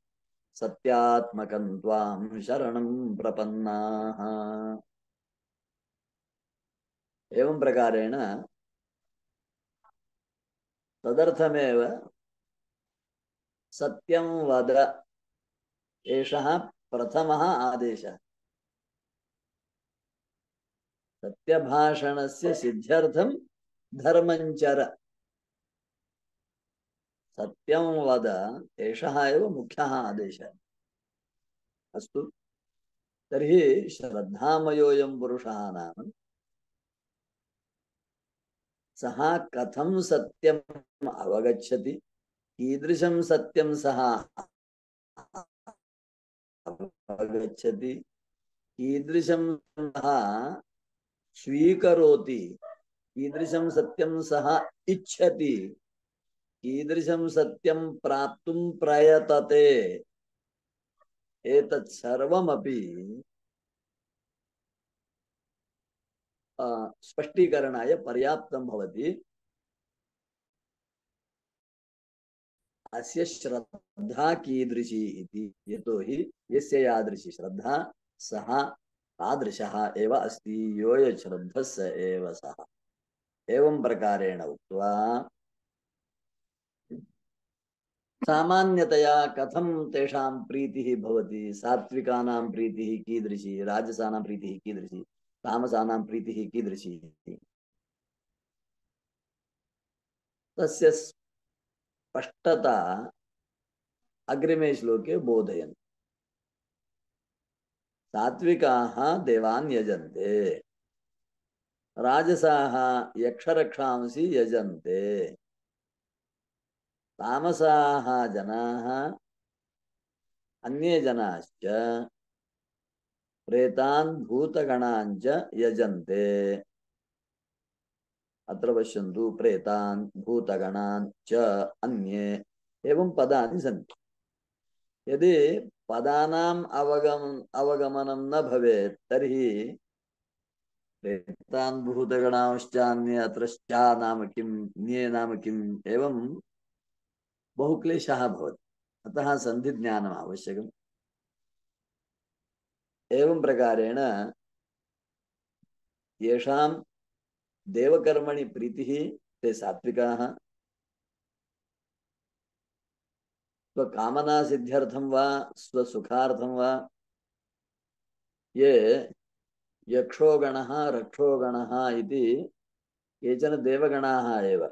सत्यात्मकं त्वां शरणं प्रपन्नाः। एवं प्रकारेण तदर्थमेव सत्यं वद एषः प्रथमः आदेशः। सत्यभाषणस्य सिद्ध्यर्थं धर्मञ्चर। सत्यं वद एषः एव मुख्यः आदेशः। अस्तु तर्हि श्रद्धामयोऽयं पुरुषः नाम सः कथं सत्यम् अवगच्छति कीदृशं सत्यं सः अवगच्छति कीदृशं सः स्वीकरोति कीदृशं सत्यं सः इच्छति कीदृशं सत्यं प्राप्तुं प्रयतते एतत् सर्वमपि स्पष्टीकरणाय पर्याप्तं भवति। अस्य श्रद्धा कीदृशी इति। यतो हि यस्य यादृशी श्रद्धा सः तादृशः एव अस्ति यो यच्छ्रद्धः स एव सः। एवं प्रकारेण उक्त्वा सामान्यतया कथं तेषां प्रीतिः भवति सात्विकानां प्रीतिः कीदृशी राजसानां प्रीतिः कीदृशी तामसानां प्रीतिः कीदृशी तस्य स्पष्टता अग्रिमे श्लोके बोधयन्। सात्विकाः देवान् यजन्ते, राजसाः यक्षरक्षांसि यजन्ते, तामसाः जनाः अन्ये जनाश्च प्रेतान् भूतगणान् च यजन्ते। अत्र पश्यन्तु, प्रेतान् भूतगणान् च अन्ये एवं पदानि सन्ति। यदि पदानाम् अवगमन अवगमनं न भवेत् तर्हि प्रेतान् भूतगणांश्चान्ये अत्र श्चा नाम किं, न्ये नाम किम्, एवं बहु क्लेशः भवति। अतः सन्धिज्ञानम् आवश्यकम्। एवं प्रकारेण येषां देवकर्मणि प्रीतिः ते सात्विकाः, स्वकामना सिद्ध्यर्थं वा स्वसुखार्थं वा ये यक्षोगणः रक्षोगणः इति केचन देवगणाः एव,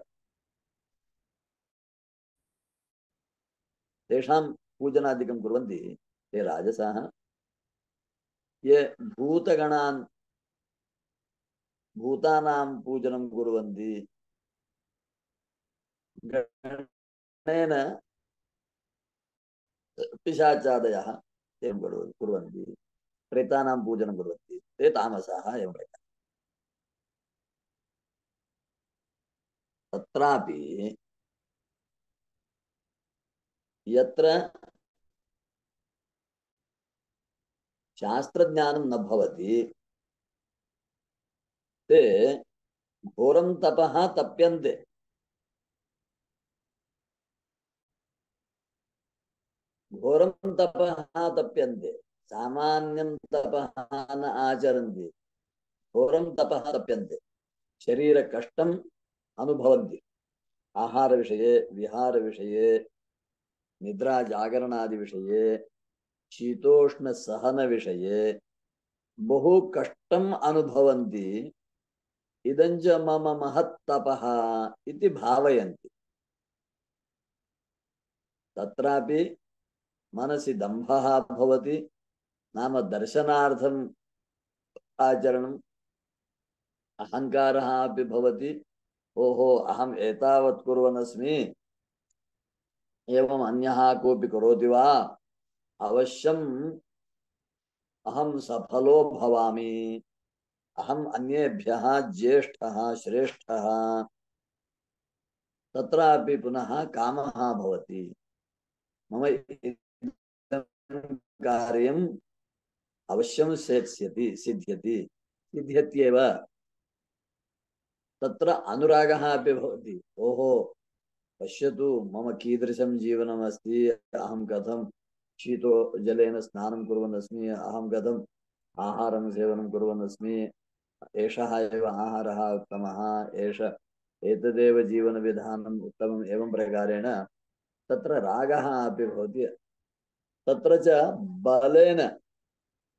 तेषां पूजनादिकं कुर्वन्ति, ते राजसाः। ये भूतगणान् भूतानां पूजनं कुर्वन्ति, गणेन पिशाचादयः एवं कुर्वन्ति, प्रेतानां पूजनं कुर्वन्ति, ते तामसाः एवं प्रकारेण। तत्रापि यत्र शास्त्रज्ञानं न भवति ते घोरं तपः तप्यन्ते। घोरं तपः तप्यन्ते, सामान्यं तपः न आचरन्ति, घोरं तपः तप्यन्ते, शरीरकष्टम् अनुभवन्ति, आहार विषये, विहार विषये, निद्रा जागरणादि विषये, शीतोष्ण सहन विषये बहु कष्टम् अनुभवन्ति। इदञ्च मम महत्तपः इति भावयन्ति। तत्रापि मनसि दम्भः भवति, नाम दर्शनार्थम् आचरणम्, अहङ्कारः अपि भवति। ओहो अहम् एतावत् कुर्वन् अस्मि, एवम् अन्यः कोऽपि करोति वा, अवश्यम् अहं सफलो भवामि, अहम् अन्येभ्यः ज्येष्ठः श्रेष्ठः। तत्रापि पुनः कामः भवति, मम कार्यम् अवश्यं सेत्स्यति, सिद्ध्यति, सिद्ध्यत्येव। तत्र अनुरागः अपि भवति। ओहो पश्यतु मम कीदृशं जीवनमस्ति, अहं कथं शीतो जलेन स्नानं कुर्वन् अस्मि, अहं कथम् आहारं सेवनं कुर्वन् अस्मि, एषः एव आहारः उत्तमः, एष एतदेव जीवनविधानम् उत्तमम्, एवं प्रकारेण तत्र रागः अपि भवति। तत्र च बलेन,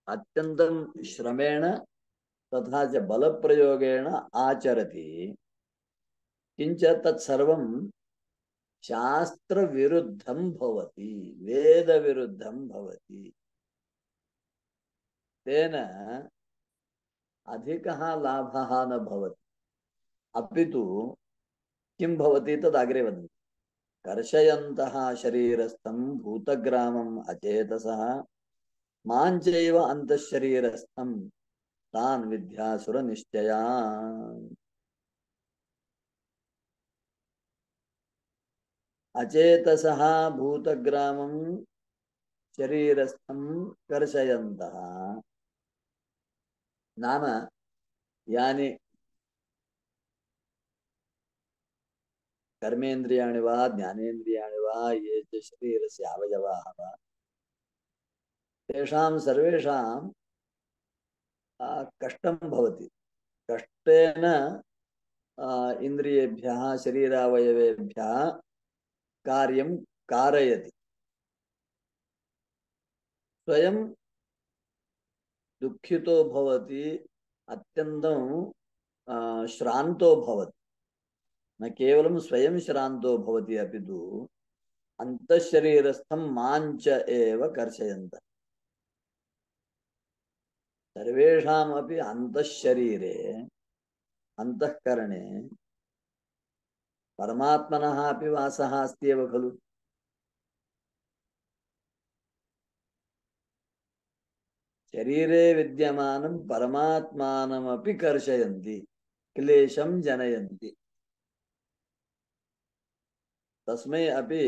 अत्यन्तं श्रमेण तथा च बलप्रयोगेण आचरति, किञ्च तत्सर्वं शास्त्रविरुद्धं भवति, वेदविरुद्धं भवति। तेन अधिकः लाभः न भवति, अपितु किं भवति तदग्रे वदन्ति। कर्षयन्तः शरीरस्थं भूतग्रामम् अचेतसः माञ्चैव अन्तःशरीरस्थं तान् विद्यासुरनिश्चयान्। अचेतसः भूतग्रामं शरीरस्थं कर्षयन्तः, नाम यानि कर्मेन्द्रियाणि वा ज्ञानेन्द्रियाणि वा ये च शरीरस्य अवयवाः वा, तेषां सर्वेषां कष्टं भवति। कष्टेन इन्द्रियेभ्यः शरीरावयवेभ्यः कार्यं कारयति, स्वयं दुःखितो भवति, अत्यन्तं श्रान्तो भवति। न केवलं स्वयं श्रान्तो भवति, अपितु अंतःशरीरस्थं मांच एव कर्षयन्तः। सर्वेषामपि अंतःशरीरे अंतःकरणे परमात्मनः अपि वासः अस्ति एव खलु। शरीरे विद्यमानं परमात्मानमपि कर्षयन्ति, क्लेशं जनयन्ति। तस्मै अपि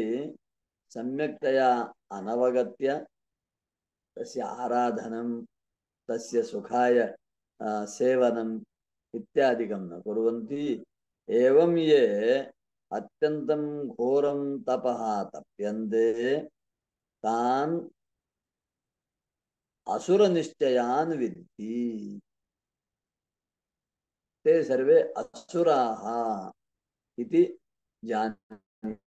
सम्यक्तया अनवगत्य तस्य आराधनं, तस्य सुखाय सेवनम् इत्यादिकं न कुर्वन्ति। एवं ये अत्यन्तं घोरं तपः तप्यन्ते तान् असुरनिश्चयान् विद्धि। ते सर्वे असुराः इति जानीहि।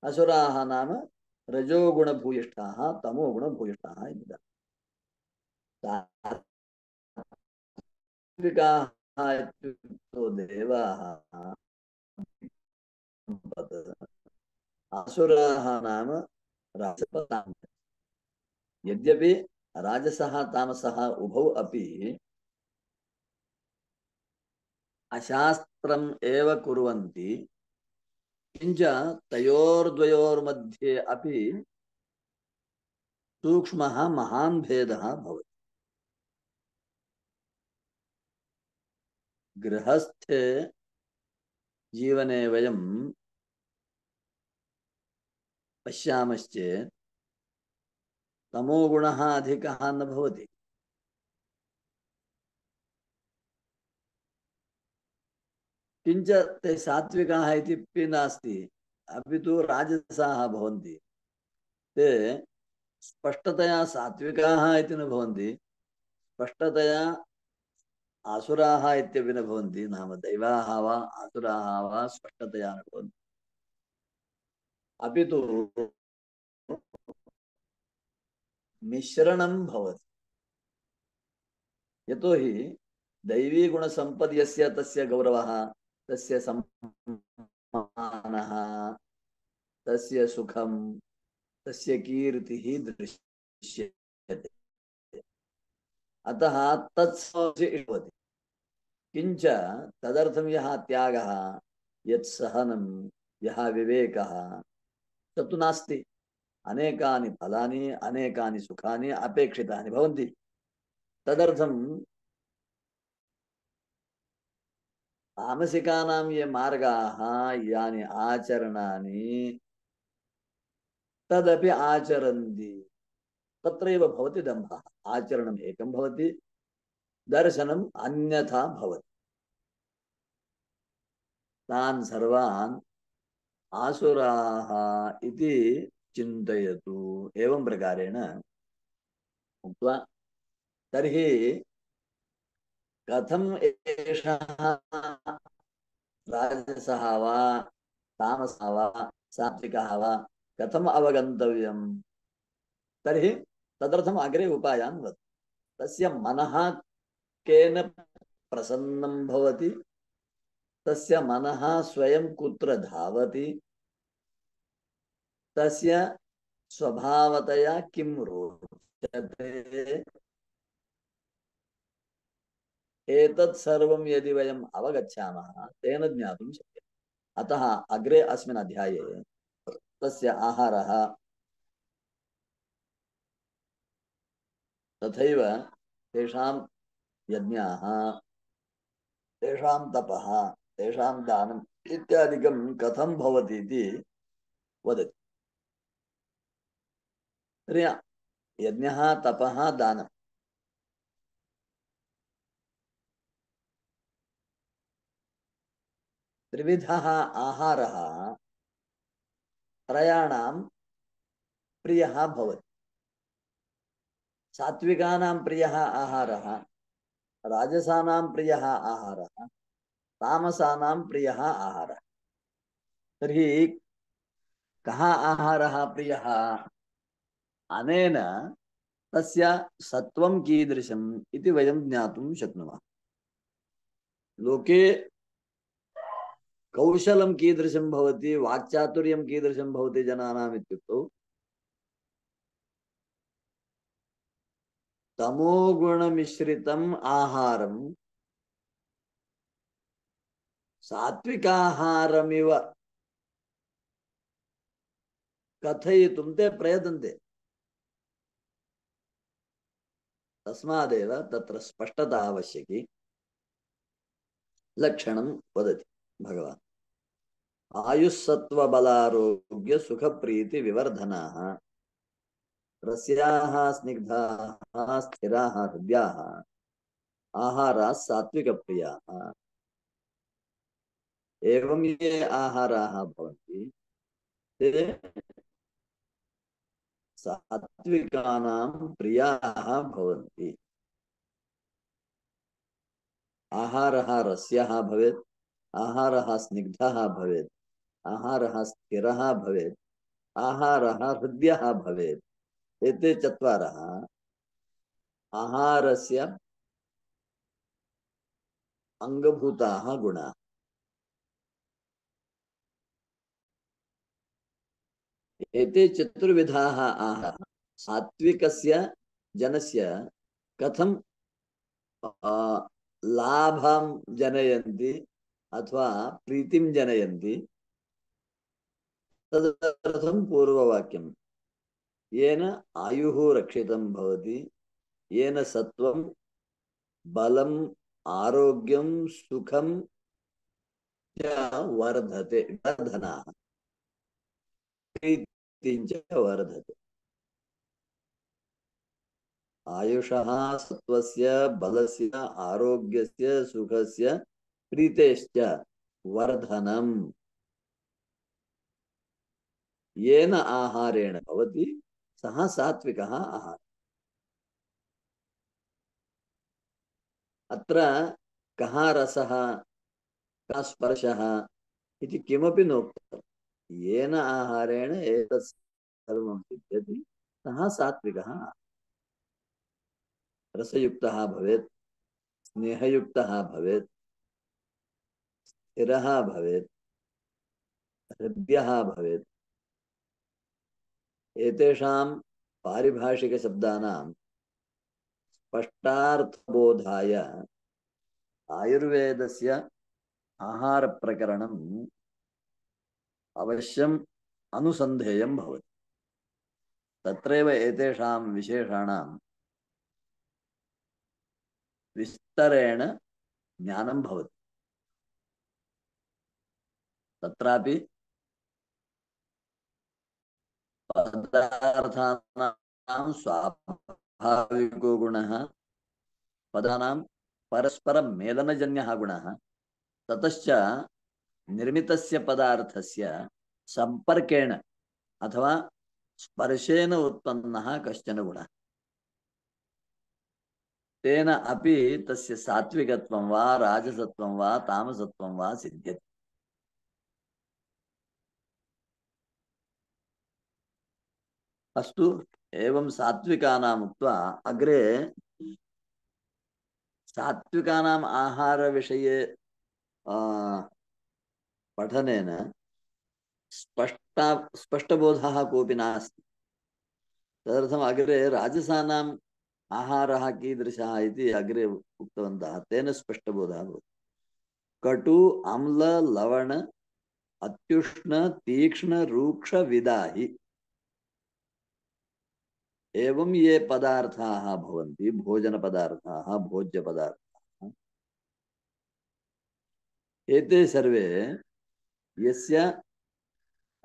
असुराः नाम रजोगुणभूयिष्ठाः तमोगुणभूयिष्ठाः इति। सात्विकाः इत्युक्तो देवाः, असुराः नाम राजसः। यद्यपि राजसः तामसः उभौ अपि अशास्त्रम् एव कुर्वन्ति, किञ्च तयोर्द्वयोर्मध्ये अपि सूक्ष्मः महान् भेदः भवति। गृहस्थे जीवने वयं पश्यामश्चेत् तमोगुणः अधिकः न भवति। किञ्च ते सात्विकाः इति नास्ति, अपि तु राजसाः भवन्ति। ते स्पष्टतया सात्विकाः इति न भवन्ति, स्पष्टतया आसुराः इत्यपि न भवन्ति। नाम दैवाः वा आसुराः वा स्पष्टतया न भवन्ति, अपि तु मिश्रणं भवति। यतोहि दैवी गुणसम्पद् यस्य तस्य गौरवः, तस्य सम्मानः, तस्य सुखं, तस्य कीर्तिः दृश्यते। अतः तत्समस्य इष्यते। किञ्च तदर्थं यः त्यागः, यत् सहनं, यः विवेकः, तत्तु नास्ति। अनेकानि फलानि, अनेकानि सुखानि अपेक्षितानि भवन्ति। तदर्थं तामसिकानां ये मार्गाः, यानि आचरणानि, तदपि आचरन्ति। तत्रैव भवति दम्भः। आचरणम् एकं भवति, दर्शनम् अन्यथा भवति। तान् सर्वान् आसुराः इति चिन्तयतु। एवं प्रकारेण उक्त्वा तर्हि कथम् एषः राजसः वा तामसः वा सात्विकः वा कथम् अवगन्तव्यम्? तर्हि तदर्थम् अग्रे उपायान् वद। तस्य मनः केन प्रसन्नं भवति, तस्य मनः स्वयं कुत्र धावति, तस्य स्वभावतया किं रोचते, एतत् सर्वं यदि वयम् अवगच्छामः तेन ज्ञातुं शक्यते। अतः अग्रे अस्मिन् अध्याये तस्य आहारः, तथैव तेषां यज्ञाः, तेषां तपः, तेषां दानम् इत्यादिकं कथं भवति इति वदति। तर्हि यज्ञः, तपः, दानं, त्रिविधः आहारः त्रयाणां प्रियः भवति। सात्विकानां प्रियः आहारः, राजसानां प्रियः आहारः, तामसानां प्रियः आहारः। तर्हि कः आहारः प्रियः? अनेन तस्य सत्वं कीदृशम् इति वयं ज्ञातुं शक्नुमः। लोके कौशलं कीदृशं भवति, वाक्चातुर्यं कीदृशं भवति जनानाम् इत्युक्तौ तमोगुणमिश्रितम् आहारं सात्विकाहारमिव कथयितुं ते प्रयतन्ते। तस्मादेव तत्र स्पष्टता आवश्यकी। लक्षणं वदति भगवान्। आयुस्सत्त्वबलारोग्य सुखप्रीति विवर्धनाः रस्याः स्निग्धाः स्थिराः हृद्याः आहाराः सात्विकप्रियाः। एवं ये आहाराः भवन्ति ते सात्विकानां प्रियाः भवन्ति। आहारः रस्यः भवेत्, आहारः स्निग्धः भवेत्, आहारः स्थिरः भवेत्, आहारः हृद्यः भवेत्। एते चत्वारः आहारस्य अङ्गभूताः गुणाः। एते चतुर्विधाः आहाराः सात्विकस्य जनस्य कथं लाभं जनयन्ति अथवा प्रीतिं जनयन्ति तदर्थं पूर्ववाक्यं। येन आयुः रक्षितं भवति, येन सत्वं बलम् आरोग्यं सुखं च वर्धते, वर्धनाः प्रीतिं च वर्धते। आयुषः सत्वस्य बलस्य आरोग्यस्य सुखस्य प्रीतेश्च वर्धनम् येन आहारेण भवति सः सात्विकः आहारः। अत्र कः रसः कः स्पर्शः इति किमपि नोक्तम्। येन आहारेण एतत् सर्वं सिद्ध्यति सः सात्विकः। रसयुक्तः भवेत्, स्नेहयुक्तः भवेत्, स्थिरः भवेत्, हृद्यः भवेत्। एतेषां पारिभाषिकशब्दानां स्पष्टार्थबोधाय आयुर्वेदस्य आहारप्रकरणम् अवश्यम् अनुसन्धेयं भवति। तत्रैव एतेषां विशेषाणां विस्तरेण ज्ञानं भवति। तत्रापि पदार्थानां स्वाभाविको गुणः, पदानां परस्परमेलनजन्यः गुणः, ततश्च निर्मितस्य पदार्थस्य सम्पर्केण अथवा स्पर्शेन उत्पन्नः कश्चन गुणः, तेन अपि तस्य सात्विकत्वं वा राजसत्वं वा तामसत्वं वा सिद्ध्यति। अस्तु, एवं सात्विकानाम् उक्त्वा अग्रे सात्विकानाम् आहारविषये पठनेन स्पष्ट स्पष्टबोधः कोऽपि नास्ति। तदर्थम् अग्रे राजसानाम् आहारः कीदृशः इति अग्रे उक्तवन्तः। तेन स्पष्टबोधः भवति। कटु अम्ल लवण अत्युष्ण तीक्ष्ण रूक्ष विदाहि एवं ये पदार्थाः भवन्ति, भोजन पदार्थाः, भोज्य पदार्थाः, एते सर्वे यस्य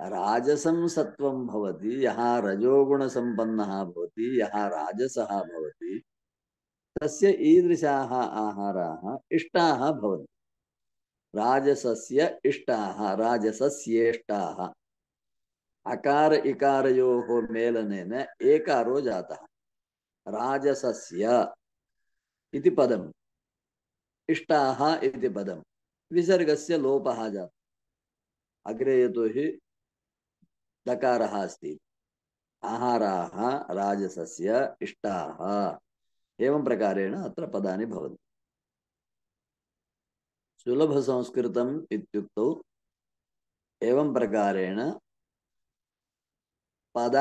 राजसं सत्वं भवति, यः रजोगुणसम्पन्नः भवति, यः राजसः भवति, तस्य ईदृशाः आहाराः इष्टाः भवन्ति। राजसस्य इष्टाः, राजसस्येष्टाः। अकार इकारयोः मेलनेन एकारो जातः। राजसस्य इति पदम्, इष्टाः इति पदम्, विसर्गस्य लोपः जातः। अग्रे यतोहि दकारः अस्ति। आहाराः राजसस्य इष्टाः, एवं प्रकारेण अत्र पदानि भवन्ति। सुलभसंस्कृतम् इत्युक्तौ एवं प्रकारेण पद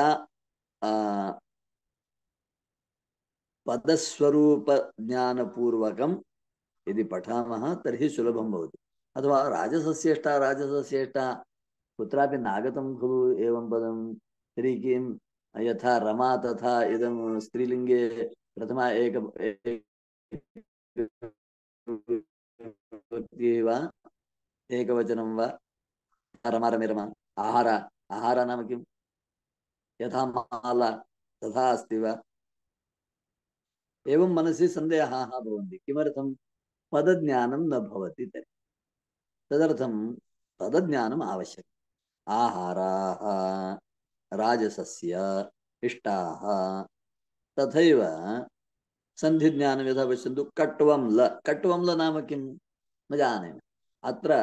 पदस्वरूप ज्ञानपूर्वकं यदि पठामः तर्हि सुलभं भवति। अथवा राजसस्येष्टा राजसस्येष्टा कुत्रापि नागतं खलु एवं पदं तर्हि किं यथा रमा तथा इदं स्त्रीलिङ्गे प्रथमा एक वा एकवचनं वा रमा रमे रमा आहार आहार नाम किं यथा माला तथा अस्ति वा एवं मनसि सन्देहाः भवन्ति किमर्थं पदज्ञानं न भवति तर्हि तदर्थं पदज्ञानम् आवश्यकम् आहाराः राजसस्य इष्टाः तथैव सन्धिज्ञानं यथा पश्यन्तु कट्वं ल कट्वं ल नाम किं न जाने अत्र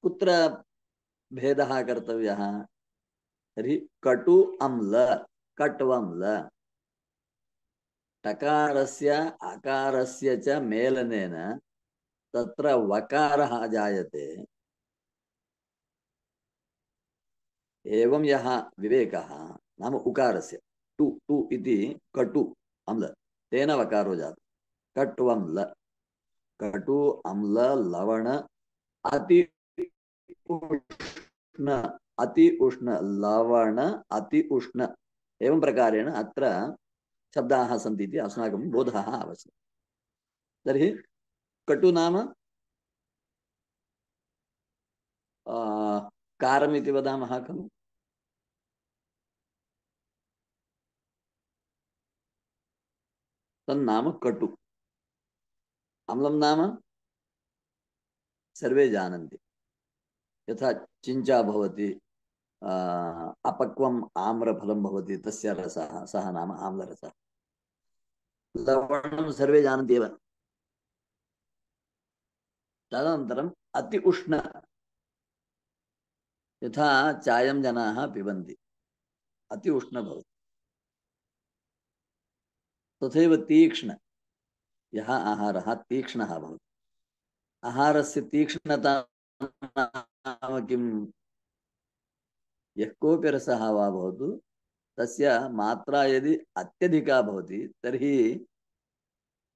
कुत्र भेदः कर्तव्यः तर्हि कटु अम्ल कट्वं ल टकारस्य अकारस्य च मेलनेन तत्र वकारः जायते एवं यः विवेकः नाम उकारस्य टु टु इति कटु अम्ल तेन वकारो जातः कट्वं ल कटु अम्ल लवण अति उष्ण अति उष्ण लवण अति उष्ण एवं प्रकारेण अत्र शब्दाः सन्ति इति अस्माकं बोधः आवश्यकः। तर्हि कटु नाम कारमिति वदामः खलु तन्नाम कटु अम्लं नाम सर्वे जानन्ति यथा चिञ्चा भवति अपक्वम् आम्रफलं भवति तस्य रसः सः नाम आम्लरसः लवणं सर्वे जानन्ति एव तदनन्तरम् अति उष्ण यथा चायं जनाः पिबन्ति अति उष्ण भवति तथैव तीक्ष्ण यः आहारः तीक्ष्णः भवति आहारस्य तीक्ष्णता नाम किं यः कोऽपि रसः वा भवतु तस्य मात्रा यदि अत्यधिका भवति तर्हि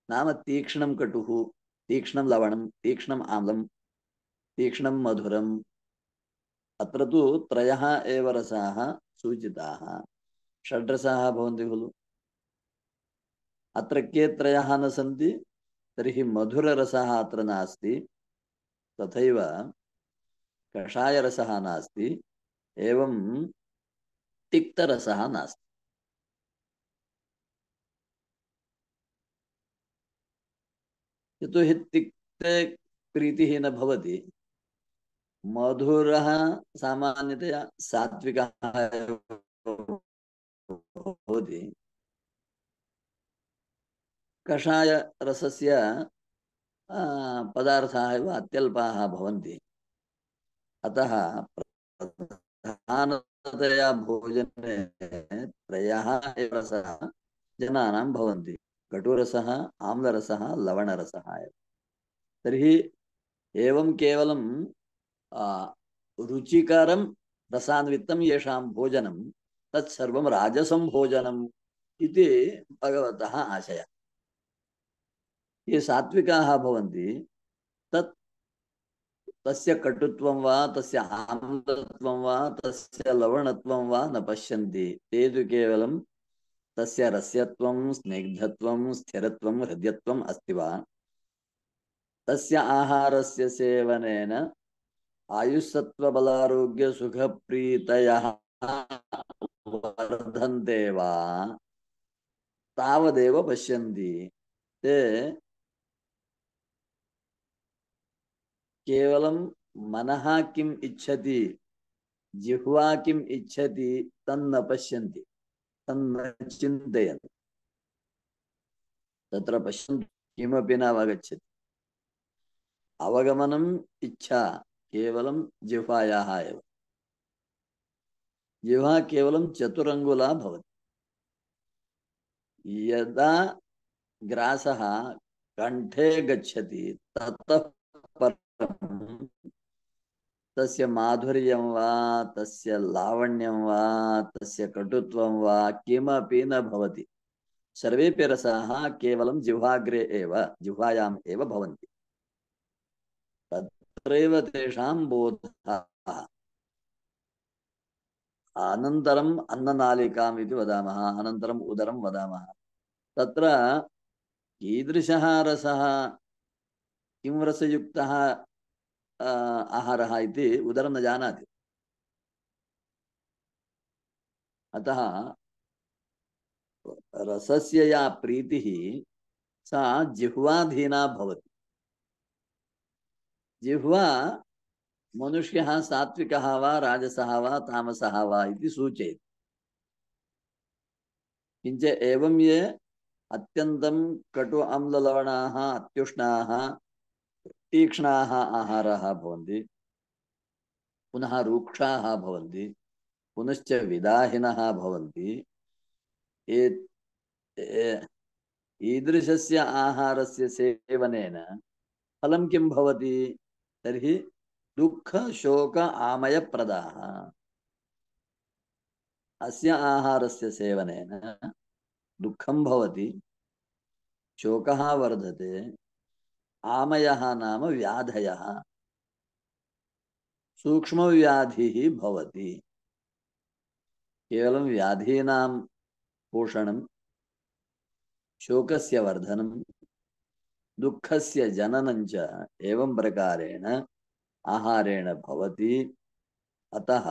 नाम तीक्ष्णं कटुः तीक्ष्णं लवणं तीक्ष्णम् आम्लं तीक्ष्णं मधुरम् अत्र तु त्रयः एव रसाः सूचिताः षड्रसाः भवन्ति खलु अत्र के त्रयः न सन्ति तर्हि मधुररसः अत्र नास्ति तथैव कषायरसः नास्ति एवं तिक्तरसः नास्ति यतोहि तिक्ते प्रीतिः न भवति मधुरः सामान्यतया सात्विकः भवति कषाय रसस्य पदार्थाः एव अत्यल्पाः भवन्ति अतः प्रधानतया भोजने त्रयः एव रसाः जनानां भवन्ति कटुरसः आम्लरसः लवणरसः एव तर्हि एवं केवलं रुचिकरं रसान्वितं येषां भोजनं तत्सर्वं राजसं भोजनम् इति भगवतः आशयः ये सात्विकाः भवन्ति तत् तस्य कटुत्वं वा तस्य आम्लत्वं वा तस्य लवणत्वं वा न पश्यन्ति ते तु केवलं तस्य रस्यत्वं स्निग्धत्वं स्थिरत्वं हृद्यत्वम् अस्ति वा तस्य आहारस्य सेवनेन आयुस्सत्त्वबलारोग्यसुखप्रीतयः वर्धन्ते वा तावदेव पश्यन्ति ते केवलं मनः किम् इच्छति जिह्वा किम् इच्छति तन्न पश्यन्ति तन्न चिन्तयन्ति तत्र पश्यन्ति किमपि न अवगच्छति अवगमनम् इच्छा केवलं जिह्वायाः एव जिह्वा केवलं चतुरङ्गुला भवति यदा ग्रासः कण्ठे गच्छति ततः परं तस्य माधुर्यं वा तस्य लावण्यं वा तस्य कटुत्वं वा किमपि न भवति। सर्वेपि रसाः केवलं जिह्वाग्रे एव जिह्वायाम् एव भवन्ति। तत्रैव तेषां बोधः। अनन्तरम् अन्ननालिकाम् इति वदामः, अनन्तरम् उदरं वदामः। तत्र कीदृशः रसः, किं रसयुक्तः आहारः इति उदरं न जानाति। अतः रसस्य या प्रीतिः सा जिह्वाधीना भवति। जिह्वा मनुष्यः सात्विकः वा राजसः वा तामसः वा इति सूचयति। किञ्च एवं ये अत्यन्तं कटु अम्ललवणाः अत्युष्णाः तीक्ष्णाः आहाराः भवन्ति, पुनः रूक्षाः भवन्ति, पुनश्च विदाहिनः भवन्ति। ईदृशस्य आहारस्य सेवनेन फलं किं भवति? तर्हि दुःख शोक आमयप्रदाः। अस्य आहारस्य सेवनेन दुःखं भवति, शोकः वर्धते, आमयः नाम व्याधयः, सूक्ष्मव्याधिः भवति। केवलं व्याधीनां पोषणं, शोकस्य वर्धनं, दुःखस्य जननं च एवं प्रकारेण आहारेण भवति। अतः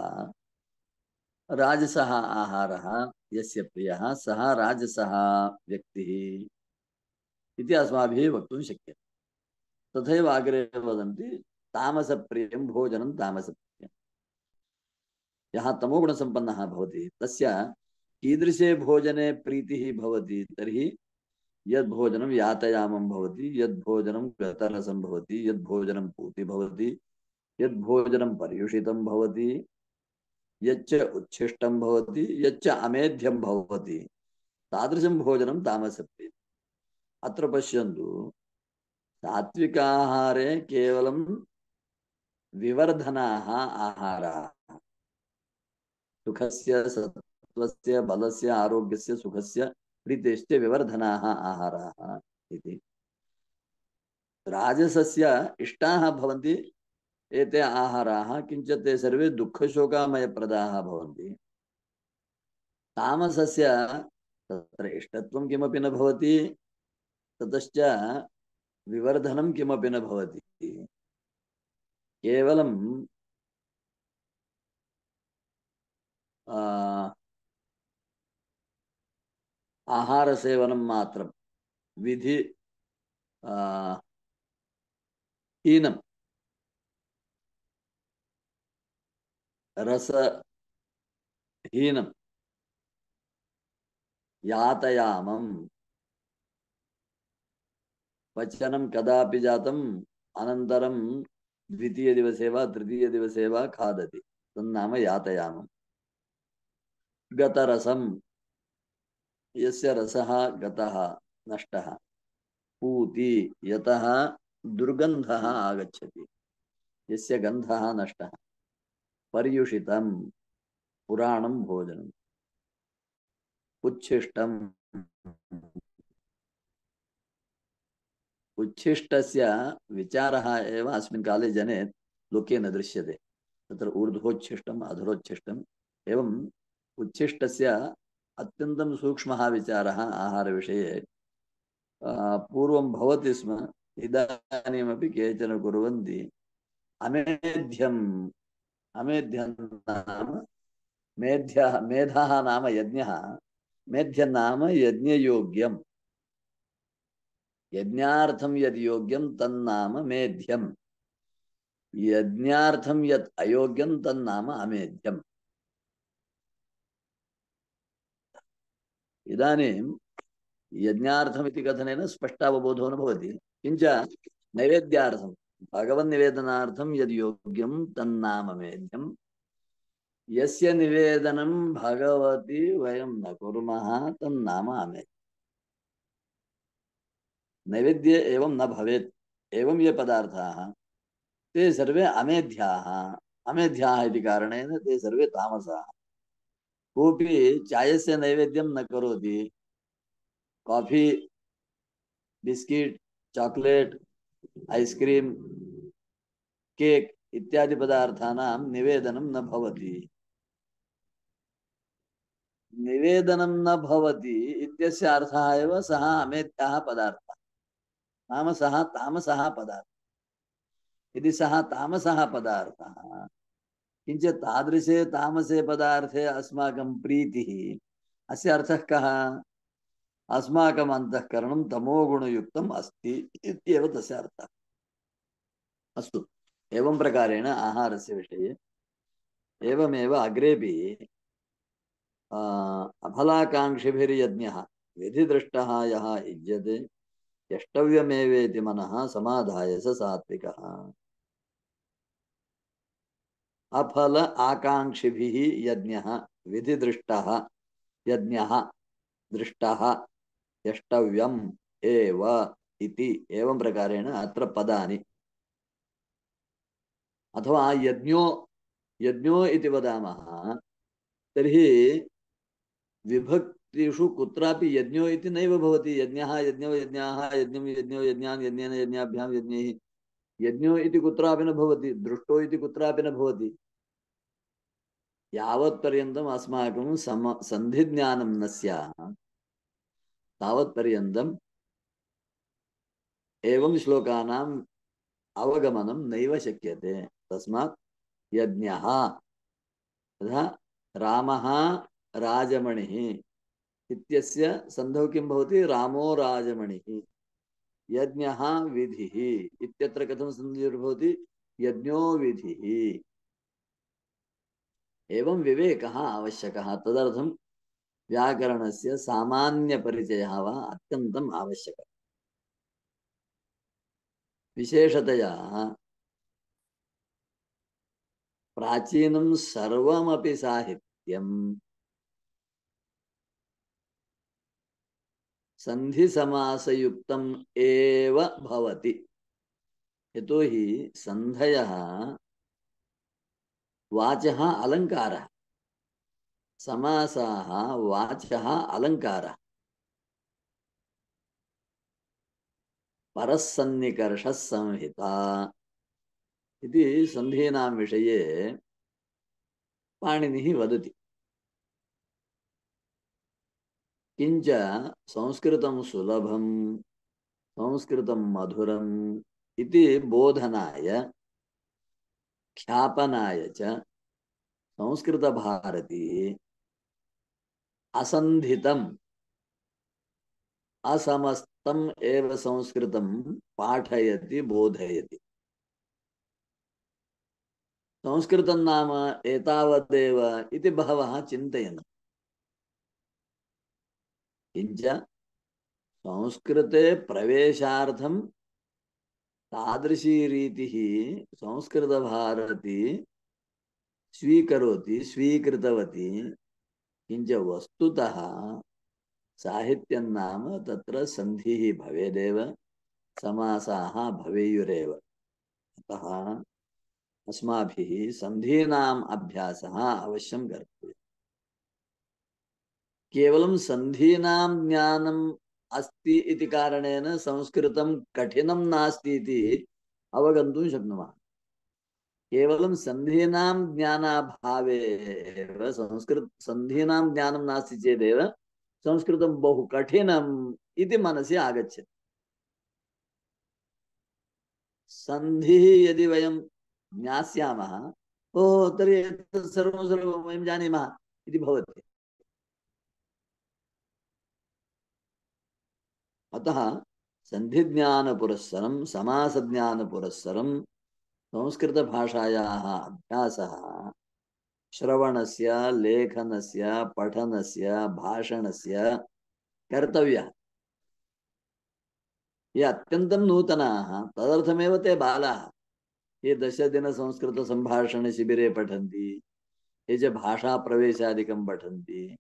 राजसः आहारः यस्य प्रियः सः राजसः व्यक्तिः इति अस्माभिः वक्तुं शक्यते। तथैव अग्रे वदन्ति तामसप्रियं भोजनं तामसप्रियं। यः तमोगुणसम्पन्नः भवति तस्य कीदृशे भोजने प्रीतिः भवति? तर्हि यद्भोजनं यातयामं भवति, यद्भोजनं गतरसं भवति, यद्भोजनं पूति भवति, यद्भोजनं पर्युषितं भवति, यच्च उच्छिष्टं भवति, यच्च अमेध्यं भवति, तादृशं भोजनं तामसप्रियम्। अत्र पश्यन्तु, सात्विकाहारे केवलं विवर्धनाः आहाराः, सुखस्य सत्त्वस्य बलस्य आरोग्यस्य सुखस्य प्रीतेश्च विवर्धनाः आहाराः इति। राजसस्य इष्टाः भवन्ति एते आहाराः, किञ्च ते सर्वे दुःखशोकामयप्रदाः भवन्ति। तामसस्य तत्र इष्टत्वं किमपि न भवति, ततश्च विवर्धनं किमपि न भवति। केवलं आहारसेवनं मात्रं, विधि हीनं, रसहीनं, यातयामं पचनं कदापि जातम् अनन्तरं द्वितीयदिवसे वा तृतीयदिवसे वा खादति, तन्नाम यातयामम्। गतरसं, यस्य रसः गतः नष्टः, पूति, यतः दुर्गन्धः आगच्छति, यस्य गन्धः नष्टः, पर्युषितं, पुराणं भोजनम्, उच्छिष्टम्, उच्छिष्टस्य विचारः एव अस्मिन् काले जने लोके न दृश्यते। तत्र ऊर्ध्वोच्छिष्टम् अधरोच्छिष्टम् एवम् उच्छिष्टस्य अत्यन्तं सूक्ष्मः विचारः आहारविषये पूर्वं भवति स्म, इदानीमपि केचन कुर्वन्ति। अमेध्यम्, अमेध्यं नाम मेध्यः, मेधः नाम यज्ञः, मेध्यं नाम यज्ञयोग्यम्, यज्ञार्थं यद् योग्यं तन्नाम मेध्यम्, यज्ञार्थं यत् अयोग्यं तन्नाम अमेध्यम्। इदानीं यज्ञार्थम् इति कथनेन स्पष्टावबोधो न भवति, किञ्च नैवेद्यार्थं भगवन्निवेदनार्थं यद् योग्यं तन्नाम मेध्यम्, यस्य निवेदनं भगवति वयं न कुर्मः तन्नाम अमेध्यम्। नैवेद्ये एवं न भवेत्। एवं ये पदार्थाः ते सर्वे अमेध्याः, अमेध्याः इति कारणेन ते सर्वे तामसाः। कोऽपि चायस्य नैवेद्यं न करोति। Coffee, biscuit, chocolate, ice cream, cake इत्यादि पदार्थानां निवेदनं न भवति। निवेदनं न भवति इत्यस्य अर्थः एव सः अमेध्याः पदार्थः, नाम सः तामसः पदार्थः। यदि सः तामसः पदार्थः, किञ्च तादृशे तामसे पदार्थे अस्माकं प्रीतिः, अस्य अर्थः कः? अस्माकम् अन्तःकरणं तमोगुणयुक्तम् अस्ति इत्येव तस्य अर्थः। अस्तु, एवं प्रकारेण आहारस्य विषये एवमेव अग्रेपि अफलाकाङ्क्षिभिर्यज्ञः विधिदृष्टः यः युज्यते यष्टव्यमेवेति मनः समाधाय स सात्विकः। अफल आकाङ्क्षिभिः यज्ञः विधिदृष्टः यज्ञः दृष्टः यष्टव्यम् एव इति एवं प्रकारेण अत्र पदानि, अथवा यज्ञो यज्ञो इति वदामः तर्हि विभक्तिषु कुत्रापि यज्ञो इति नैव भवति। यज्ञः यज्ञो यज्ञाः यज्ञं यज्ञो यज्ञान् यज्ञेन यज्ञाभ्यां यज्ञैः, यज्ञो इति कुत्रापि न भवति, दृष्टो इति कुत्रापि न भवति। यावत्पर्यन्तम् अस्माकं सम सन्धिज्ञानं न स्यात् तावत्पर्यन्तम् एवं श्लोकानाम् अवगमनं नैव शक्यते। तस्मात् यज्ञः तथा रामः राजमणिः इत्यस्य सन्धौ किं भवति? रामो राजमणिः। यज्ञः विधिः इत्यत्र कथं सन्धिर्भवति? यज्ञो विधिः। एवं विवेकः आवश्यकः। तदर्थं व्याकरणस्य सामान्यपरिचयः वा अत्यन्तम् आवश्यकः। विशेषतया प्राचीनं सर्वमपि साहित्यं सन्धिसमासयुक्तम् एव भवति। यतोहि सन्धयः वाचः अलङ्कारः, समासाः वाचः अलङ्कारः। परसन्निकर्षः संहिता इति सन्धीनां विषये पाणिनिः वदति। किंच संस्कृतं सुलभं संस्कृतं मधुरम् इति बोधनाय ख्यापनाय च संस्कृतभारती असन्धितम् असमस्तम् एव संस्कृतं पाठयति बोधयति। संस्कृतं नाम एतावदेव इति बहवः चिन्तयन्ति। किंच संस्कृते प्रवेशार्थं तादृशी रीतिः संस्कृतभारती स्वीकरोति स्वीकृतवती। किंच वस्तुतः साहित्यं नाम तत्र सन्धिः भवेदेव, समासाः भवेयुरेव। अतः अस्माभिः सन्धीनाम् अभ्यासः अवश्यं कर्तव्यः। केवलं सन्धीनां ज्ञानम् अस्ति इति कारणेन संस्कृतं कठिनं नास्ति इति अवगन्तुं शक्नुमः। केवलं सन्धीनां ज्ञानाभावे एव संस्कृत सन्धीनां ज्ञानं नास्ति चेदेव संस्कृतं बहु कठिनम् इति मनसि आगच्छति। सन्धिः यदि वयं ज्ञास्यामः, ओह तर्हि एतत् सर्वं सर्वं वयं जानीमः इति भवति। अतः सन्धिज्ञानपुरस्सरं समासज्ञानपुरस्सरं संस्कृतभाषायाः अभ्यासः श्रवणस्य, लेखनस्य, पठनस्य, भाषणस्य कर्तव्यः। ये अत्यन्तं नूतनाः तदर्थमेव ते बालाः। ये दशदिन संस्कृत संभाषण शिबिरे पठन्ति, ये च भाषाप्रवेशादिकं पठन्ति,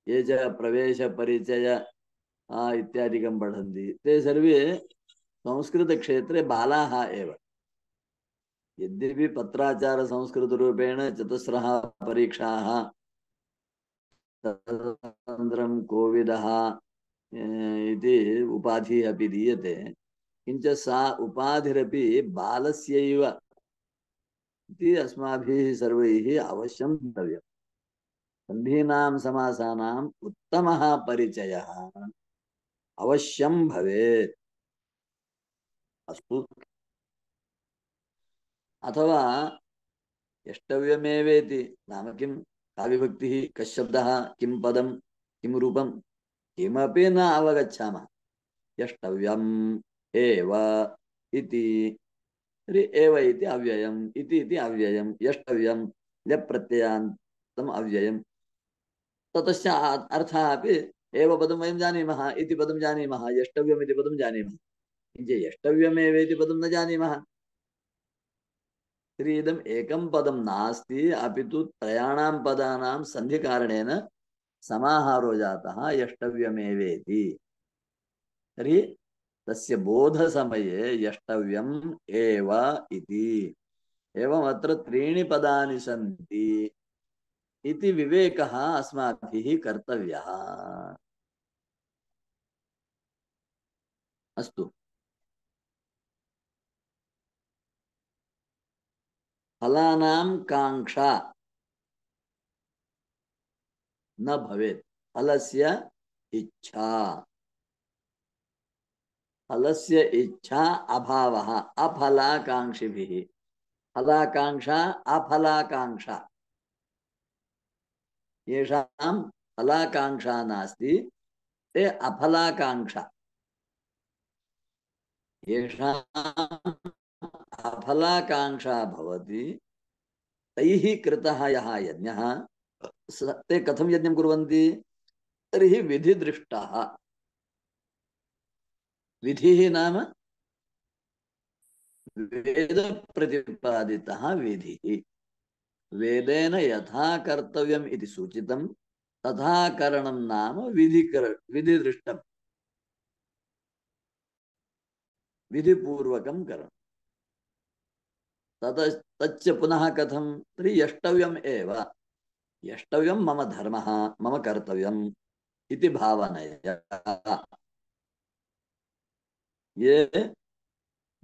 ये च प्रवेशपरिचय इत्यादिकं पठन्ति, ते सर्वे संस्कृतक्षेत्रे बालाः एव। यद्यपि पत्राचार संस्कृत रूपेण चतुस्रः परीक्षाः तदनन्तरं कोविदः इति उपाधिः अपि दीयते, किञ्च सा उपाधिरपि बालस्यैव इति अस्माभिः सर्वैः अवश्यं द्रव्यम्। सन्धीनां समासानाम् उत्तमः परिचयः अवश्यं भवेत्। अस्तु। अथवा यष्टव्यमेवेति नाम किं, का विभक्तिः, कः शब्दः, किं पदं, किं रूपं, किमपि न अवगच्छामः। यष्टव्यम् एव इति, एव इति अव्ययम्, इति इति अव्ययम्, यष्टव्यम् ल्यप् प्रत्ययान्तम् अव्ययम्, ततश्च अर्थः अपि एव पदं वयं जानीमः, इति पदं जानीमः, यष्टव्यम् इति पदं जानीमः, किञ्च यष्टव्यमेव इति पदं न जानीमः। तर्हि इदम् एकं पदं नास्ति, अपि तु त्रयाणां पदानां सन्धिकारणेन समाहारो जातः यष्टव्यमेवेति। तर्हि तस्य बोधसमये यष्टव्यम् एव इति। एवम् अत्र त्रीणि पदानि सन्ति इति विवेकः अस्माभिः कर्तव्यः। अस्तु। फलानां काङ्क्षा न भवेत्, फलस्य इच्छा, फलस्य इच्छा अभावः अफलाकाङ्क्षिभिः, फलाकाङ्क्षा अफलाकाङ्क्षा, येषां फलाकाङ्क्षा नास्ति ते अफलाकाङ्क्षा, येषाम् अफलाकाङ्क्षा भवति तैः कृतः यः यज्ञः, ते कथं यज्ञं कुर्वन्ति, तर्हि विधिदृष्टः। विधिः नाम वेद प्रतिपादितः विधिः, वेदेन यथा कर्तव्यम् इति सूचितं तथा करणं नाम विधिकर विधिदृष्टं, विधिपूर्वकं करणं। तत तच्च पुनः कथं, तर्हि यष्टव्यम् एव, यष्टव्यं मम धर्मः, मम कर्तव्यम् इति भावनया ये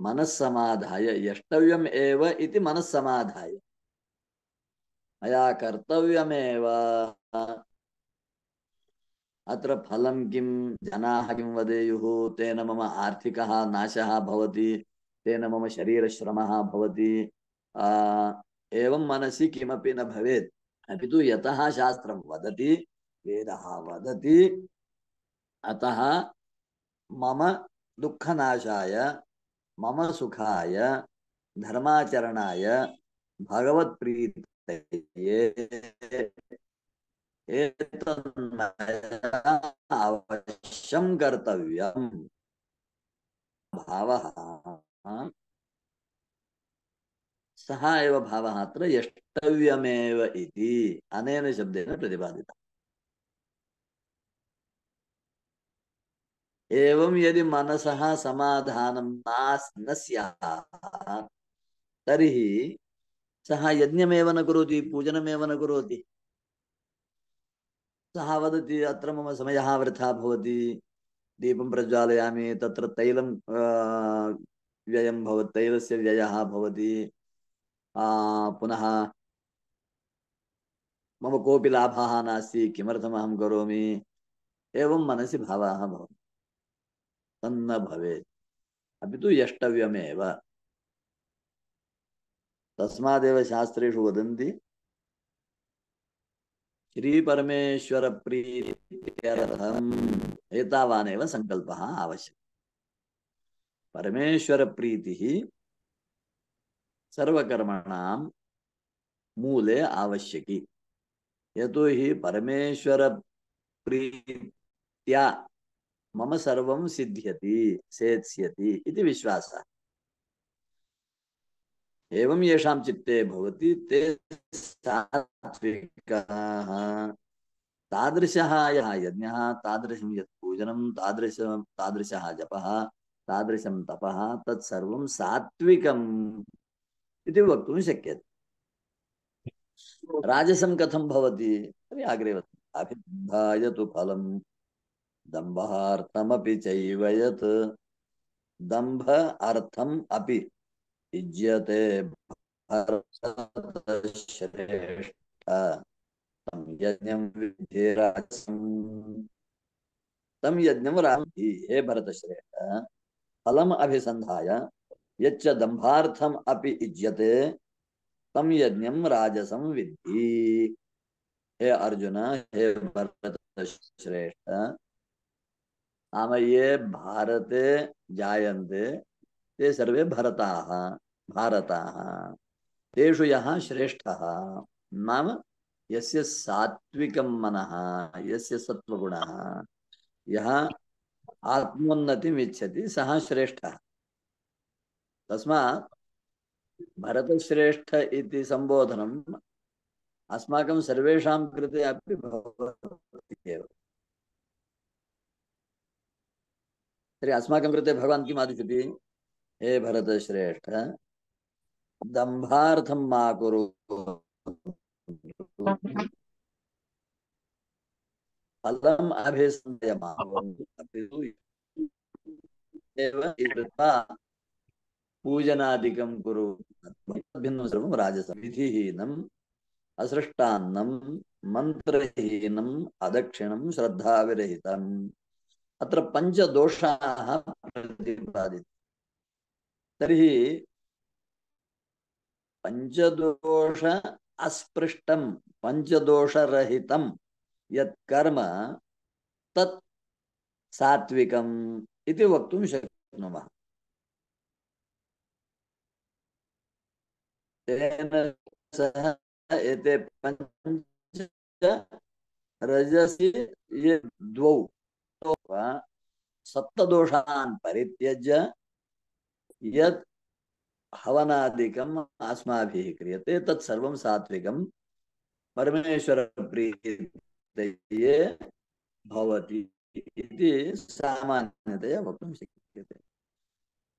मनस्समाधाय, यष्टव्यम् एव इति मनस्समाधाय, मया कर्तव्यमेव, अत्र फलं किं, जनाः किं वदेयुः, तेन मम आर्थिकः नाशः भवति, तेन मम शरीरश्रमः भवति, एवं मनसि किमपि न भवेत्, अपि तु यतः शास्त्रं वदति, वेदः वदति, अतः मम दुःखनाशाय, मम सुखाय, धर्माचरणाय, भगवत्प्रीतये एतन्मया अवश्यं कर्तव्यम् भावः, सः एव भावः अत्र यष्टव्यमेव इति अनेन शब्देन प्रतिपादितः। एवं यदि मनसः समाधानं न स्यात् तर्हि सः यज्ञमेव न करोति, पूजनमेव न करोति। सः वदति अत्र मम समयः वृथा भवति, दीपं प्रज्वालयामि, तत्र तैलं व्ययं भवति, तैलस्य व्ययः भवति, पुनः मम कोऽपि लाभः नास्ति, किमर्थम् अहं करोमि, एवं मनसि भावः भवति। तन्न भवेत्, अपि तु यष्टव्यमेव। तस्मादेव शास्त्रेषु वदन्ति श्रीपरमेश्वर प्रीत्यर्थम् एतावानेव संकल्पः आवश्यकः। परमेश्वर प्रीतिः सर्वकर्मणां मूले आवश्यकी, यतो हि परमेश्वर प्रीत्या मम सर्वं सिद्ध्यति सेत्स्यति इति विश्वासः। एवं येषां चित्ते भवति ते सात्विकाः। तादृशः यः यज्ञः, तादृशं यत् पूजनं, तादृशं तादृशः जपः, तादृशं तपः, तत्सर्वं सात्विकम् इति वक्तुं शक्यते। राजसं कथं भवति तर्हि अग्रे वदति अभिधाय तु फलं दम्भार्थमपि चैव यत् दम्भ अर्थम् अपि युज्यते भरतश्रेष्ठ तं यज्ञं विद्धि राजसं तम यज्ञं रामहि हे भरतश्रेष्ठ फलम अभिसंधाय यच्च दम्भार्थम अपि युज्यते तम यज्ञं राजसं विद्धि। हे अर्जुन, हे भरतश्रेष्ठ, नाम ये भारते जायन्ते ते सर्वे भरताः भारताः तेषु यः श्रेष्ठः नाम यस्य सात्विकं मनः यस्य सत्त्वगुणः यः आत्मोन्नतिम् इच्छति सः श्रेष्ठः। तस्मात् भरतश्रेष्ठ इति संबोधनम् अस्माकं सर्वेषां कृते अपि भवति एव। तर्हि अस्माकं कृते भगवान् किम् आदिशति? हे भरतश्रेष्ठ, दम्भार्थं मा कुरु, फलम् अभिसंधाय मा कृत्वा पूजनादिकं कुरु। भिन्नं सर्वं राजसं विधिहीनम् असृष्टान्नं मन्त्रहीनम् अदक्षिणं श्रद्धाविरहितम्। अत्र पञ्चदोषाः प्रतिपादिताः। तर्हि पञ्चदोष अस्पृष्टं पञ्चदोषरहितं यत् कर्म तत् सात्विकम् इति वक्तुं शक्नुमः। तेन सह एते पञ्च रजसि ये द्वौ सप्तदोषान् परित्यज्य यत् हवनादिकम् अस्माभिः क्रियते तत् सर्वं सात्विकं परमेश्वरप्रीतये भवति इति सामान्यतया वक्तुं शक्यते।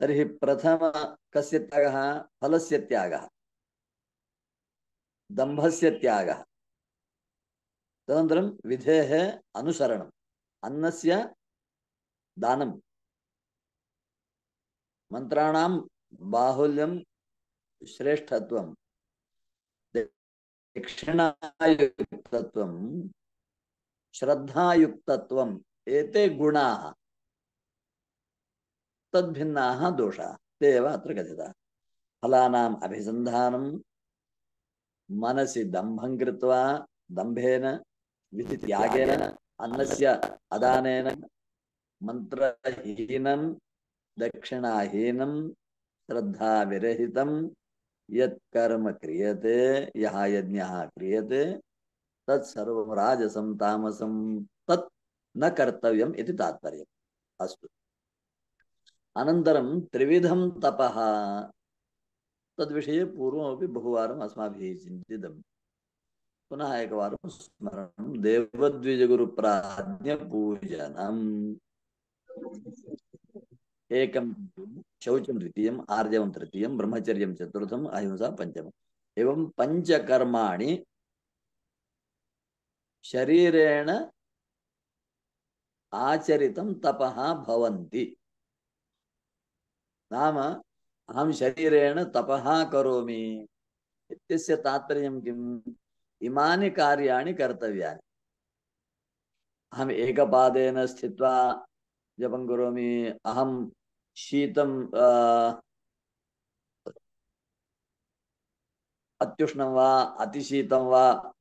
तर्हि प्रथम कस्य त्यागः? फलस्य त्यागः, दम्भस्य त्यागः, तदनन्तरं विधेः अनुसरणम्, अन्नस्य दानं, मन्त्राणां बाहुल्यं श्रेष्ठत्वं, दक्षिणायुक्तत्वं, श्रद्धायुक्तत्वम्, एते गुणाः तद्भिन्नाः दोषाः ते एव अत्र कथिताः। फलानाम् अभिसन्धानं मनसि दम्भं कृत्वा दम्भेन विधित्यागेन अन्नस्य अदानेन मन्त्रहीनं दक्षिणाहीनं श्रद्धाविरहितं यत् कर्म क्रियते यः यज्ञः क्रियते तत्सर्वं राजसं तामसं तत् न कर्तव्यम् इति तात्पर्यम्। अस्तु, अनन्तरं त्रिविधं तपः तद्विषये पूर्वमपि बहुवारम् अस्माभिः चिन्तितं। पुनः एकवारं स्मरणं देवद्विजगुरुप्राज्ञपूजनम् एकं शौचं द्वितीयम् आर्जवं तृतीयं ब्रह्मचर्यं चतुर्थम् अहिंसा पञ्चमम्। एवं पञ्चकर्माणि शरीरेण आचरितं तपः भवन्ति। नाम अहं शरीरेण तपः करोमि इत्यस्य तात्पर्यं किम्? इमानि कार्याणि कर्तव्यानि। अहम् एकपादेन स्थित्वा जपं करोमि, अहं शीतं अत्युष्णं वा अतिशीतं वा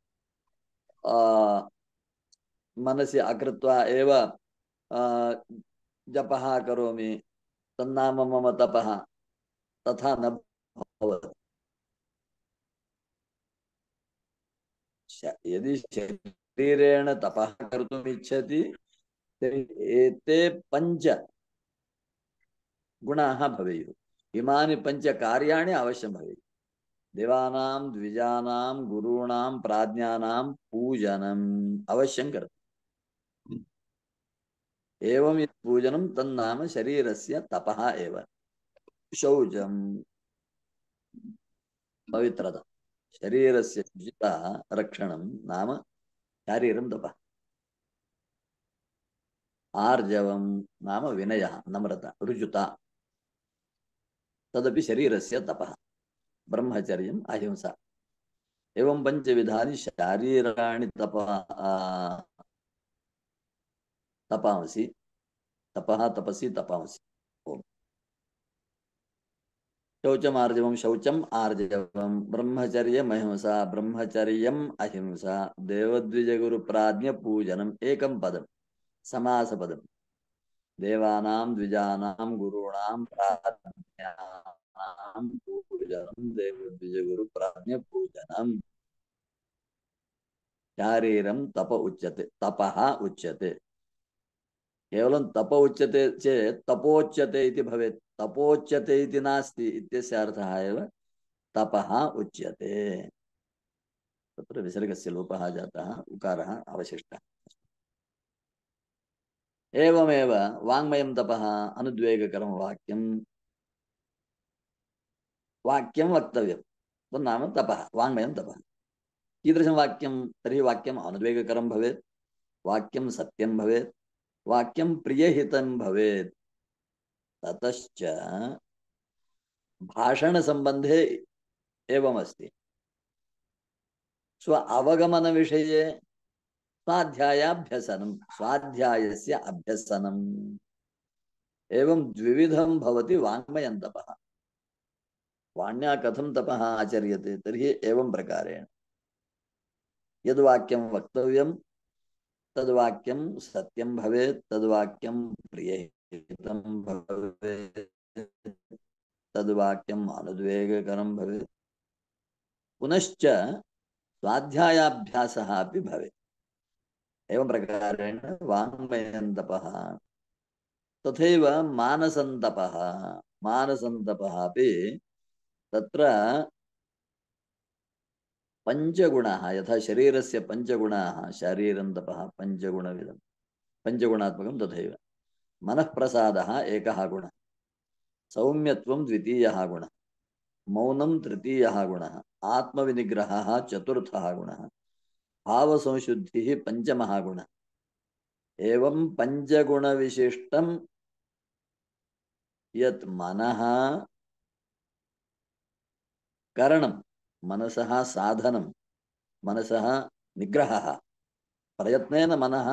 मनसि अकृत्वा एव जपः करोमि, तन्नाम मम तपः, तथा न भवति। यदि शरीरेण तपः कर्तुम् इच्छति तर्हि एते पञ्च गुणाः भवेयुः। इमानि पञ्च कार्याणि अवश्यं भवेयुः। देवानां द्विजानां गुरूणां प्राज्ञानां पूजनम् अवश्यं कर्तव्यम्। एवं यत् पूजनं तन्नाम शरीरस्य तपः एव। शौचं पवित्रता शरीरस्य शुचिता रक्षणं नाम शारीरं तपः आर्जवं नाम विनयः नम्रता ऋजुता तदपि शरीरस्य तपः ब्रह्मचर्यम् अहिंसा एवं पंचविधानि शारीराणि तपः तपांसि तपः तपसि तपांसि ओम शौचम आर्जवम शौचम आर्जवम ब्रह्मचर्यम अहिंसा ब्रह्मचर्यम अहिंसा देवद्विज गुरु प्राज्ञ पूजनम एकम पदम समास पदम देवानां द्विजानां गुरूणां प्राज्ञानां पूजनम देवद्विज गुरु प्राज्ञ पूजनम शारीरं तप उच्यते तपः उच्यते केवलं तप उच्यते चेत् तपोच्यते इति भवेत् तपोच्यते इति नास्ति इत्यस्य अर्थः एव तपः उच्यते तत्र विसर्गस्य लोपः जातः उकारः अवशिष्टः एवमेव वाङ्मयं तपः अनुद्वेगकरं वाक्यं वाक्यं वक्तव्यं तन्नाम तपः वाङ्मयं तपः कीदृशं वाक्यं तर्हि वाक्यम् अनुद्वेगकरं भवेत् वाक्यं सत्यं भवेत् वाक्यं प्रियहितं भवेत् ततश्च भाषणसम्बन्धे एवमस्ति स्व अवगमनविषये स्वाध्यायाभ्यसनं स्वाध्यायस्य अभ्यसनम् एवं द्विविधं भवति वाङ्मयं तपः वाण्या कथं तपः आचर्यते तर्हि एवं प्रकारेण यद्वाक्यं वक्तव्यं तद्वाक्यं सत्यं भवेत् तद्वाक्यं प्रियहितं भवेत् तद्वाक्यम् अनुद्वेगकरं भवेत् पुनश्च स्वाध्यायाभ्यासः अपि भवेत् एवं प्रकारेण वाङ्मयं तपः तथैव मानसं तपः मानसं तपः अपि तत्र पंचगुणाः यथा शरीरस्य पंचगुणाः शारीरं तपः पंचगुणविदं पंचगुणात्मकं तथैव मनःप्रसादः एकः गुणः सौम्यत्वं द्वितीयः गुणः मौनं तृतीयः गुणः आत्मविनिग्रहः चतुर्थः गुणः भावसंशुद्धिः पंचमः गुणः एवं पंचगुणविशिष्टं यत् मनः करणं मनसः साधनं मनसः निग्रहः प्रयत्नेन मनः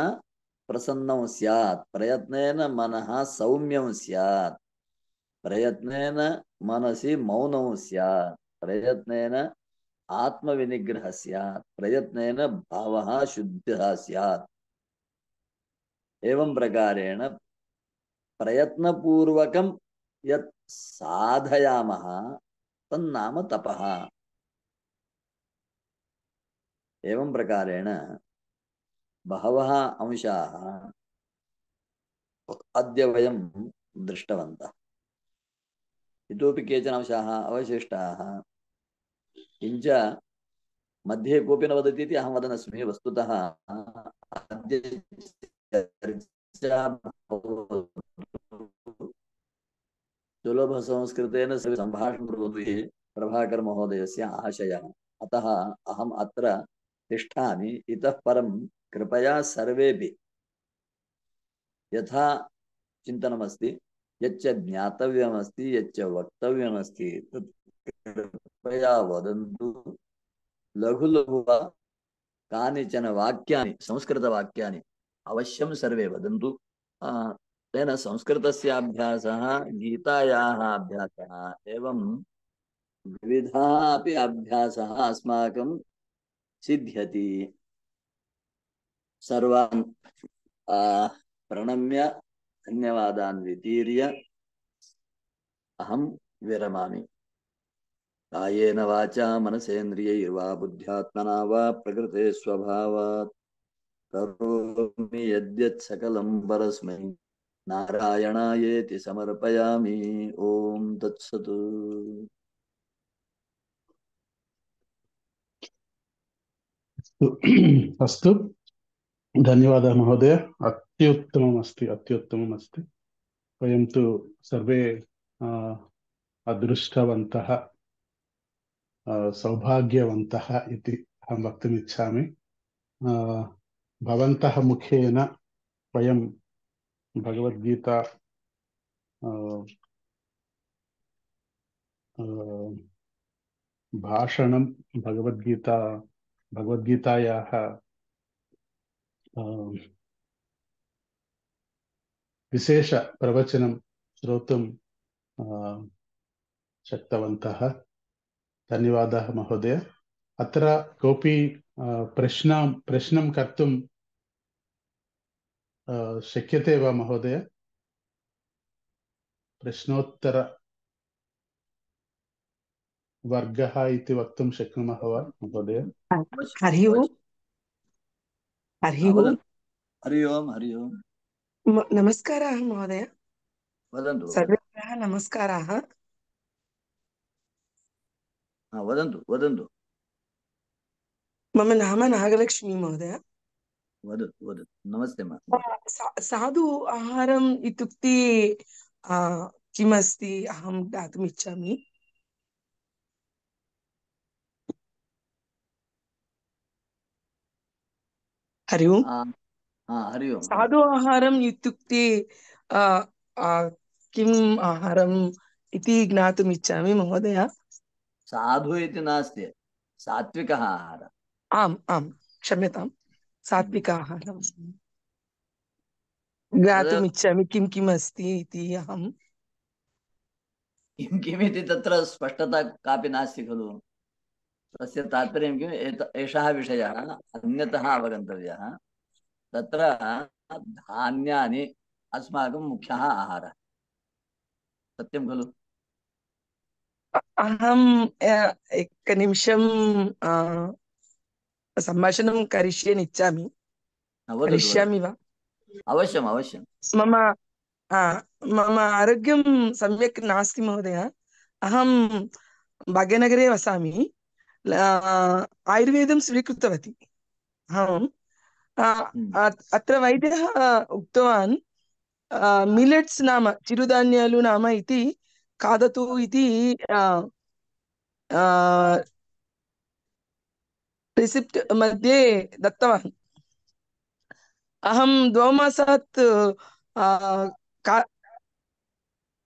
प्रसन्नं स्यात् प्रयत्नेन मनः सौम्यं स्यात् प्रयत्नेन मनसि मौनं स्यात् प्रयत्नेन आत्मविनिग्रहः स्यात् प्रयत्नेन भावः शुद्धः स्यात् एवं प्रकारेण प्रयत्नपूर्वकं यत् साधयामः तन्नाम तपः एवं प्रकारेण बहवः अंशाः अद्य वयं दृष्टवन्तः इतोपि केचन अंशाः अवशिष्टाः किञ्च मध्ये कोऽपि न वदति इति अहं वदनस्मि वस्तुतः अद्य चर्चा सुलभसंस्कृतेन सम्भाषणं कुर्वन्तु इति प्रभाकर महोदयस्य आशयः अतः अहम् अत्र तिष्ठामि इतः परं कृपया सर्वेपि यथा चिन्तनमस्ति यच्च ज्ञातव्यमस्ति यच्च वक्तव्यमस्ति तत् कृपया वदन्तु लघु लघु कानिचन वाक्यानि संस्कृतवाक्यानि अवश्यं सर्वे वदन्तु तेन संस्कृतस्य अभ्यासः गीतायाः अभ्यासः एवं विविधाः अपि अभ्यासः अस्माकं सिद्ध्यति सर्वान् प्रणम्य धन्यवादान् वितीर्य अहं विरमामि कायेन वाचा मनसेन्द्रियैर्वा बुद्ध्यात्मना वा प्रकृते स्वभावात् करोमि यद्यत् सकलं परस्मै नारायणायेति समर्पयामि ओम तत्सत्। अस्तु धन्यवादः महोदय अत्युत्तमम् अस्ति अत्युत्तमम् अस्ति वयं तु सर्वे अदृष्टवन्तः सौभाग्यवन्तः इति अहं वक्तुम् इच्छामि। भवन्तः मुखेन वयं भगवद्गीता भाषणं भगवद्गीता भगवद्गीतायाः विशेषप्रवचनं श्रोतुं शक्तवन्तः। धन्यवादः महोदय। अत्र कोऽपि प्रश्नं प्रश्नं कर्तुं शक्यते वा महोदय? प्रश्नोत्तरवर्गः इति वक्तुं शक्नुमः वा महोदय? हरि ओम्। हरि ओम्। हरि ओम्। हरि ओम्। नमस्काराः महोदय। वदन्तु। सर्वेभ्यः नमस्काराः। वदन्तु वदन्तु। मम नाम नागलक्ष्मी महोदय। वदतु वदतु। नमस्ते मा। साधु आहारम् इत्युक्ते किमस्ति अहं ज्ञातुम् इच्छामि। हरि ओम्। हरि ओम्। साधु आहारम् इत्युक्ते किम् आहारम् इति ज्ञातुम् इच्छामि महोदय। साधु इति नास्ति, सात्विकः आहारः। आम् आम्, क्षम्यताम्, सात्विक आहारम् ज्ञातुम् इच्छामि। किं किम् अस्ति इति अहं किं किमिति तत्र स्पष्टता कापि नास्ति खलु। तस्य तात्पर्यं किम्? एषः विषयः अन्यतः अवगन्तव्यः। तत्र धान्यानि अस्माकं मुख्यः आहारः, सत्यं खलु? अहम् एकनिमिषं सम्भाषणं करिष्यन् इच्छामि। करिष्यामि वा? अवश्यम् अवश्यं। मम मम आरोग्यं सम्यक् नास्ति महोदय। अहं भाग्यनगरे वसामि। आयुर्वेदं स्वीकृतवती अहम्। अत्र वैद्यः उक्तवान् मिलेट्स् नाम चिरुधान्यालु नाम इति खादतु इति रिसिप्ट् मध्ये दत्तवान्। अहं द्वौमासात्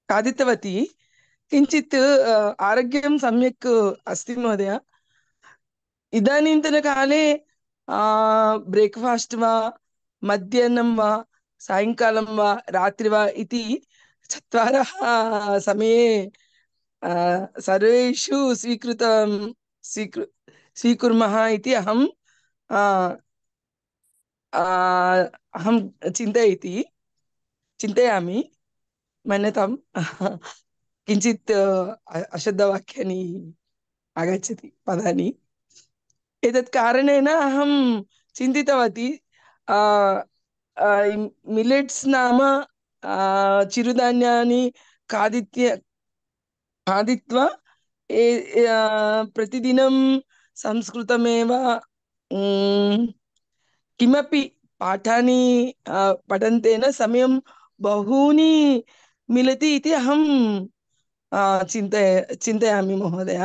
खादितवती। किञ्चित् आरोग्यं सम्यक् अस्ति महोदय। इदानीन्तनकाले ब्रेक्फास्ट् वा मध्याह्नं वा सायङ्कालं वा रात्रि वा इति चत्वारः समये सर्वेषु स्वीकृतं स्वीकृ स्वीकुर्मः इति अहं अहं चिन्तयति चिन्तयामि। मन्यताम् किञ्चित् अशुद्धवाक्यानि आगच्छति, पदानि। एतत् कारणेन अहं चिन्तितवती मिलेट्स् नाम चिरुधान्यानि खादित्य खादित्वा प्रतिदिनं संस्कृतमेव किमपि पाठानि पठन्तेन समयं बहूनि मिलति इति अहं चिन्तय चिन्तयामि महोदय।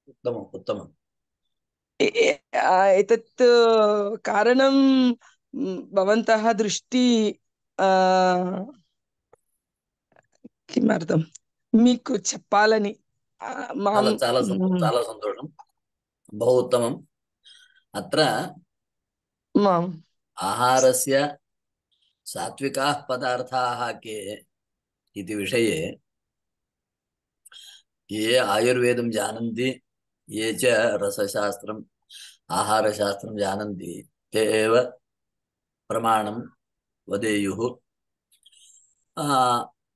उत्तमम् उत्तमम्। एतत् कारणं भवन्तः दृष्टि किमर्थं మీకు చెప్పాలని చాలా చాలా చాలా సంతోషం, बहु उत्तमम्। अत्र आहारस्य सात्विकाः पदार्थाः के इति विषये ये आयुर्वेदं जानन्ति, ये च रसशास्त्रम् आहारशास्त्रं जानन्ति, ते एव प्रमाणं वदेयुः।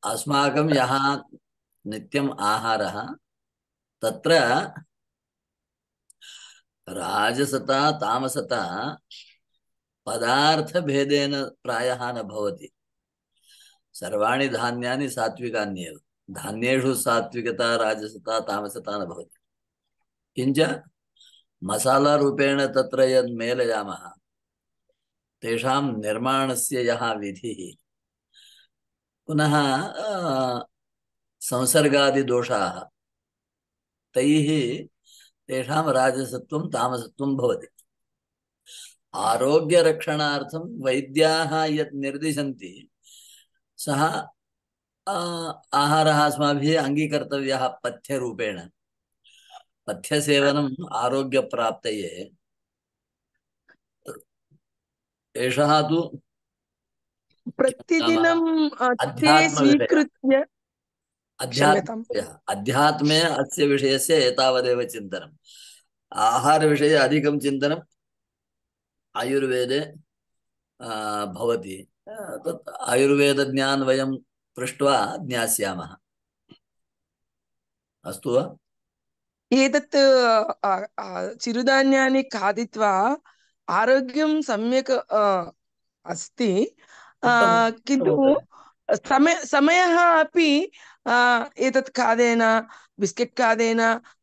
अस्माकं यः नित्यम् आहारः तत्र राजसता तामसता पदार्थभेदेन प्रायः न भवति। सर्वाणि धान्यानि सात्विकान्येव। धान्येषु सात्विकता राजसता तामसता न भवति। किञ्च मसालारूपेण तत्र यद् मेलयामः तेषां निर्माणस्य यः विधिः, पुनः संसर्गादिदोषाः, तैः तेषां राजसत्वं तामसत्वं भवति। आरोग्यरक्षणार्थं वैद्याः यत् निर्दिशन्ति सः आहारः अस्माभिः अङ्गीकर्तव्यः पथ्यरूपेण। पथ्यसेवनम् आरोग्यप्राप्तये। एषः तु प्रतिदिनं अ, ते अध्यात्मविषयः। स्वीकृत्य क्षम्यताम् अध्यात्म अध्यात्मे अस्य विषयस्य एतावदेव चिन्तनम्। आहारविषये अधिकं चिन्तनम् आयुर्वेदे भवति। तत् आयुर्वेदज्ञान् वयं पृष्ट्वा ज्ञास्यामः। अस्तु वा? एतत् अ, अ, चिरुधान्यानि खादित्वा आरोग्यं सम्यक् अ, अस्ति, अ, उत्तमं। किन्तु समय समयः अपि अ, एतत् खादेन, बिस्केट् खादेन,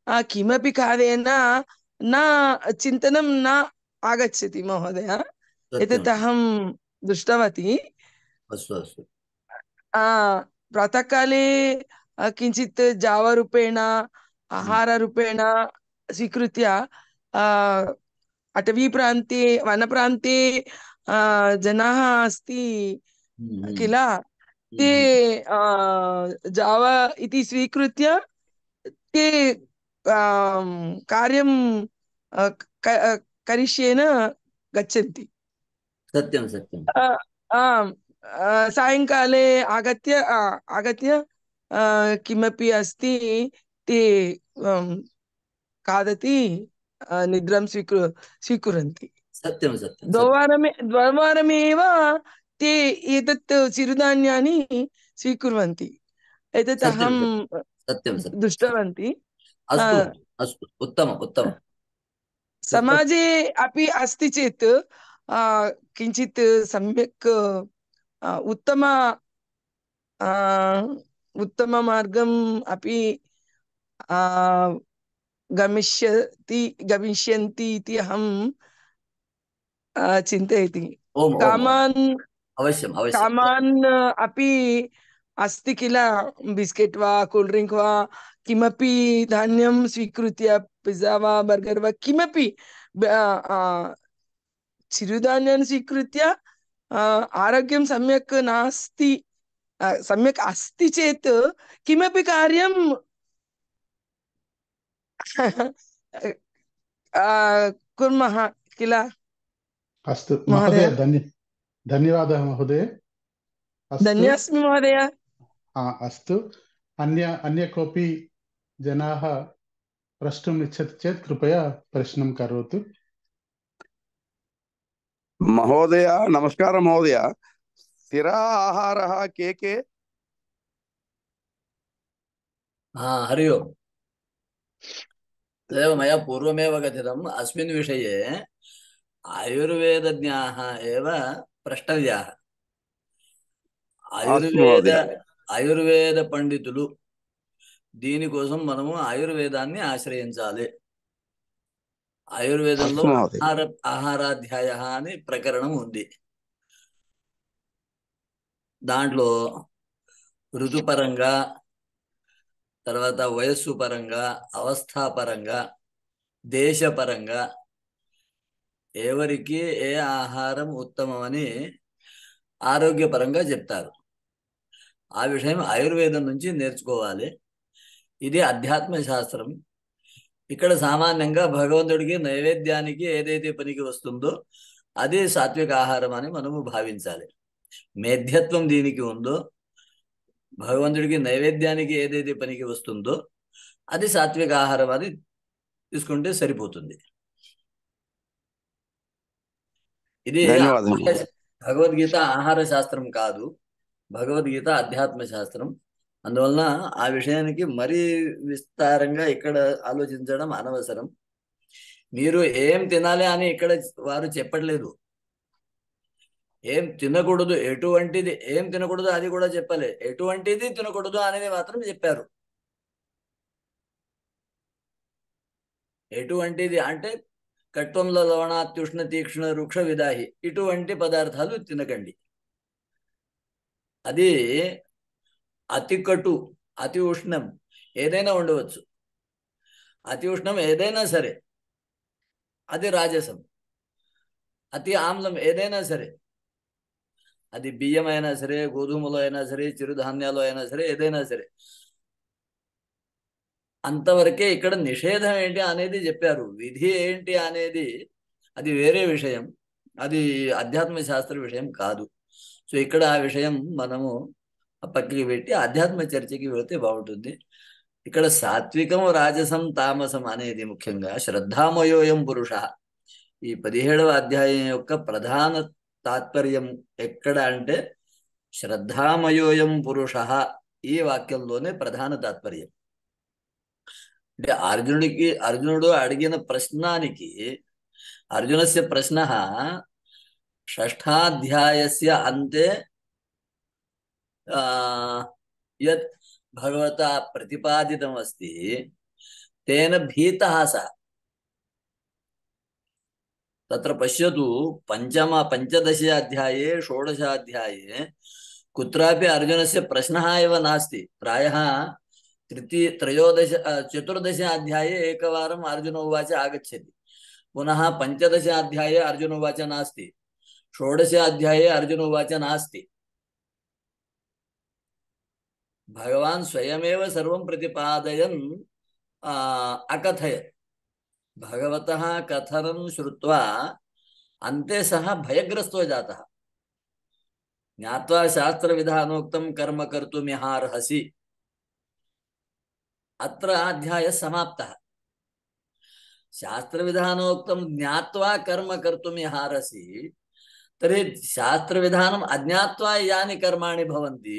अ, किमपि खादेन न चिन्तनं न आगच्छति महोदय। एतत् अहं दृष्टवती। अस्तु अस्तु। आ प्रातःकाले अ, किञ्चित् जावरूपेण आहाररूपेण स्वीकृत्य अ, अटवीप्रान्ते वनप्रान्ते अ, जनाः अस्ति किल, ते अ, जाव इति स्वीकृत्य ते आम्, कार्यं अ, क- करिष्येन गच्छन्ति। सत्यं सत्यं। अ, आम्, अ, सायङ्काले आगत्य अ, आगत्य अ, किमपि अस्ति ते अं, खादति, अ, निद्रां स्वीकुर् स्वीकुर्वन्ति। सत्यं सत्यं सत्यं द्ववारमे द्विवारमेव ते एतत् चिरुधान्यानि स्वीकुर्वन्ति। एतत् सत्यं अहं सत्यं सत्यं। दृष्टवन्ती। अ, अस्तु अस्तु, उत्तमम् उत्तमम् उत्तमम्। समाजे अपि अस्ति चेत् अ, किञ्चित् सम्यक् अ, उत्तम अ, उत्तममार्गम् अपि अ, गमिष्यति गमिष्यन्ति इति अहं अ, चिन्तयति। ओम् ओम् ओम्। कामान् अवश्यम् अवश्यम्। कामान् अपि अस्ति किल, बिस्केट् वा कूल् ड्रिङ्क् वा किमपि धान्यं स्वीकृत्य पिज़्ज़ा वा बर्गर् वा किमपि ब- अ, चिरुधान्यान् स्वीकृत्य अ, आरोग्यं सम्यक् नास्ति, अ, सम्यक् अस्ति चेत् किमपि कार्यं अ, कुर्मः किल अस्तु महोदय। महोदय, धन्य धन्यवादः महोदय। अस्तु। धन्योऽस्मि महोदय। आ, अस्तु। अन्य अन्य कोऽपि जनाः प्रष्टुम् इच्छति चेत् कृपया प्रश्नं करोतु। महोदय नमस्कारः। महोदय, स्थिर आहारः के के? हा, हरि ओम्। तदेव मया पूर्वमेव कथितम्। अस्मिन् विषये आयुर्वेदज्ञाः एव प्रष्टव्याः। अस्तु ఆయుర్వేద महोदय। ఆయుర్వేద పండితులు దీనికోసం మనము ఆయుర్వేదాన్ని ఆశ్రయించాలి. ఆయుర్వేదంలో अस्तु महोदय। ఆహార ఆహారాధ్యాయ అని ప్రకరణం ఉంది. దాంట్లో ఋతుపరంగా, తర్వాత వయస్సు పరంగా, అవస్థాపరంగా, దేశపరంగా ఎవరికి ఏ ఆహారం ఉత్తమమని ఆరోగ్యపరంగా చెప్తారు. ఆ విషయం ఆయుర్వేదం నుంచి నేర్చుకోవాలి. ఇది అధ్యాత్మ శాస్త్రం. ఇక్కడ సామాన్యంగా భగవంతుడికి నైవేద్యానికి ఏదైతే పనికి వస్తుందో అది సాత్విక ఆహారం అని మనము భావించాలి. మేధ్యత్వం దీనికి ఉందో, భగవంతుడికి నైవేద్యానికి ఏదైతే పనికి వస్తుందో అది సాత్విక ఆహారం అని తీసుకుంటే సరిపోతుంది. ఇది ధన్యవాదాలు. భగవద్గీత ఆహార శాస్త్రం కాదు, భగవద్గీత అధ్యాత్మ శాస్త్రం. అందువలన ఆ విషయానికి మరీ విస్తారంగా ఇక్కడ ఆలోచించడం అనవసరం. మీరు ఏం తినాలి అని ఇక్కడ వారు చెప్పట్లేదు. ఏం తినకూడదు, ఎటువంటిది ఏం తినకూడదు అది కూడా చెప్పలే. ఎటువంటిది తినకూడదు అనేది మాత్రం చెప్పారు. ఎటువంటిది అంటే కట్వంలో లవణాత్యుష్ణ తీక్ష్ణ వృక్ష విదాహి, ఇటువంటి పదార్థాలు తినకండి. అది అతి కటు, అతి ఉష్ణం ఏదైనా ఉండవచ్చు. అతి ఉష్ణం ఏదైనా సరే అది రాజసం, అతి ఆమ్లం ఏదైనా సరే, అది బియ్యం అయినా సరే, గోధుమలు అయినా సరే, చిరుధాన్యాలు అయినా సరే, ఏదైనా సరే, అంతవరకే ఇక్కడ నిషేధం ఏంటి అనేది చెప్పారు. విధి ఏంటి అనేది అది వేరే విషయం, అది అధ్యాత్మ శాస్త్ర విషయం కాదు. సో ఇక్కడ ఆ విషయం మనము పక్కకి పెట్టి ఆధ్యాత్మ చర్చకి వెళితే బాగుంటుంది. ఇక్కడ సాత్వికం, రాజసం, తామసం అనేది ముఖ్యంగా శ్రద్ధామయోయం పురుష, ఈ పదిహేడవ అధ్యాయం యొక్క ప్రధాన తాత్పర్యం ఎక్కడ అంటే శ్రద్ధామయోయం పురుష, ఈ వాక్యంలోనే ప్రధాన తాత్పర్యం. అంటే అర్జునుడికి అర్జునుడు అడిగిన ప్రశ్నానికి, అర్జునస్య ప్రశ్న షష్ఠాధ్యాయస్య అంతే యత్ భగవతా ప్రతిపాదితం అస్తి తేన భీతః సః. తత్ర పశ్యతు పంచమ పంచదశ అధ్యాయే షోడశ అధ్యాయే కుత్రాపి అర్జునస్య ప్రశ్నः एव नास्ति. प्रायः तृतीय त्रयोदश चतुर्दश अध्याये एकवारम् अर्जुन उवाच आगच्छति, पुनः पंचदश अध्याये अर्जुन उवाच नास्ति, षोडश अध्याये अर्जुन उवाच नास्ति. भगवान् स्वयमेव सर्वं प्रतिपादयन् अकथयत्. भगवतः कथनं श्रुत्वा अन्ते सः भयग्रस्तो जातः. ज्ञात्वा शास्त्र विधानोक्तं कर्म कर्तुमिहार्हसि, अत्र अध्यायः समाप्तः. शास्त्र विधानोक्तं ज्ञात्वा कर्म कर्तुमिहार्हसि, तर्हि शास्त्र विधानम् अज्ञात्वा यानि कर्माणि भवन्ति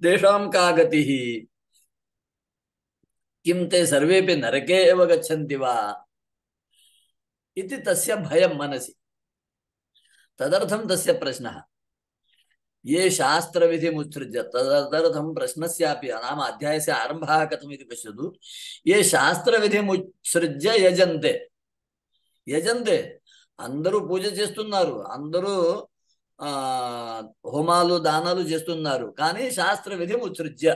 तेषां का गतिः? किं ते सर्वेपि नरके एव गच्छन्ति वा इति तस्य भयं मनसि. तदर्थं तस्य प्रश्नः. ये शास्त्रविधिमुत्सृज्य, तदर्थं प्रश्नस्यापि नाम अध्यायस्य आरम्भः कथमिति पश्यतु. ये शास्त्रविधिमुत्सृज्य యజంతే, యజంతే అందరూ పూజ చేస్తున్నారు, అందరూ ఆ హోమాలు దానాలు చేస్తున్నారు, కానీ శాస్త్ర విధి ముత్సృజ్య.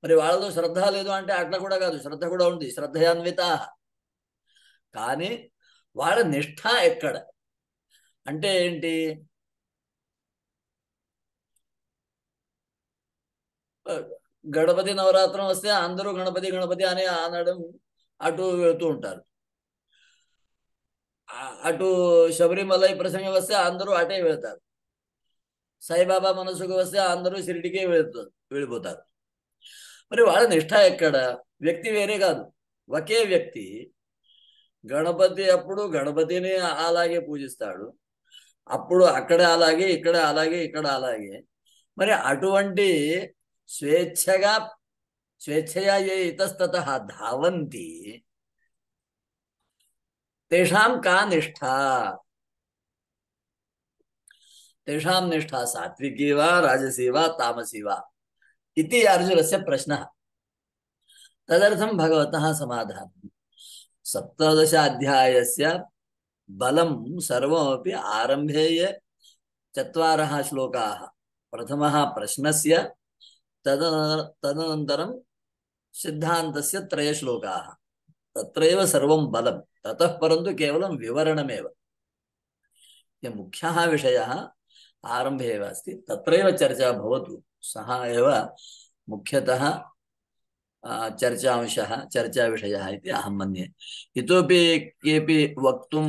మరి వాళ్ళలో శ్రద్ధ లేదు అంటే అట్లా కూడా కాదు, శ్రద్ధ కూడా ఉంది, శ్రద్ధయాన్విత. కానీ వాళ్ళ నిష్ఠ ఎక్కడ అంటే ఏంటి? గణపతి నవరాత్రం వస్తే అందరూ గణపతి గణపతి అని అనడం అటు వెళుతూ ఉంటారు. అటు శబరిమలై ప్రసంగం వస్తే అందరూ అటే వెళ్తారు. సాయిబాబా మనసుకు వస్తే అందరూ షిరిడికే వెళ్తారు, వెళ్ళిపోతారు. మరి వాళ్ళ నిష్ఠ ఎక్కడ? వ్యక్తి వేరే కాదు, ఒకే వ్యక్తి. గణపతి అప్పుడు గణపతిని అలాగే పూజిస్తాడు, అప్పుడు అక్కడ అలాగే, ఇక్కడ అలాగే, ఇక్కడ అలాగే. మరి అటువంటి స్వేచ్ఛగా స్వేచ్ఛయా ఏ ఇతస్తతః ధావంతి తేషాం కా నిష్ఠ? తేషాం నిష్ఠ సాత్వికీ వా రాజసీ వా తామసీ వా इति अर्जुनस्य प्रश्नः. तदर्थं भगवतः समाधानं. सप्तदश अध्यायस्य बलं सर्वमपि आरम्भे ये चत्वारः श्लोकाः, प्रथमः प्रश्नस्य, तदनन्तरं सिद्धान्तस्य त्रय श्लोकाः, तत्रैव सर्वं बलं. ततः परन्तु केवलं विवरणमेव. मुख्यः विषयः आरम्भे एव अस्ति, तत्रैव चर्चा भवतु. सः एव मुख्यतः चर्चांशः, चर्चाविषयः इति अहं मन्ये. इतोपि केऽपि वक्तुं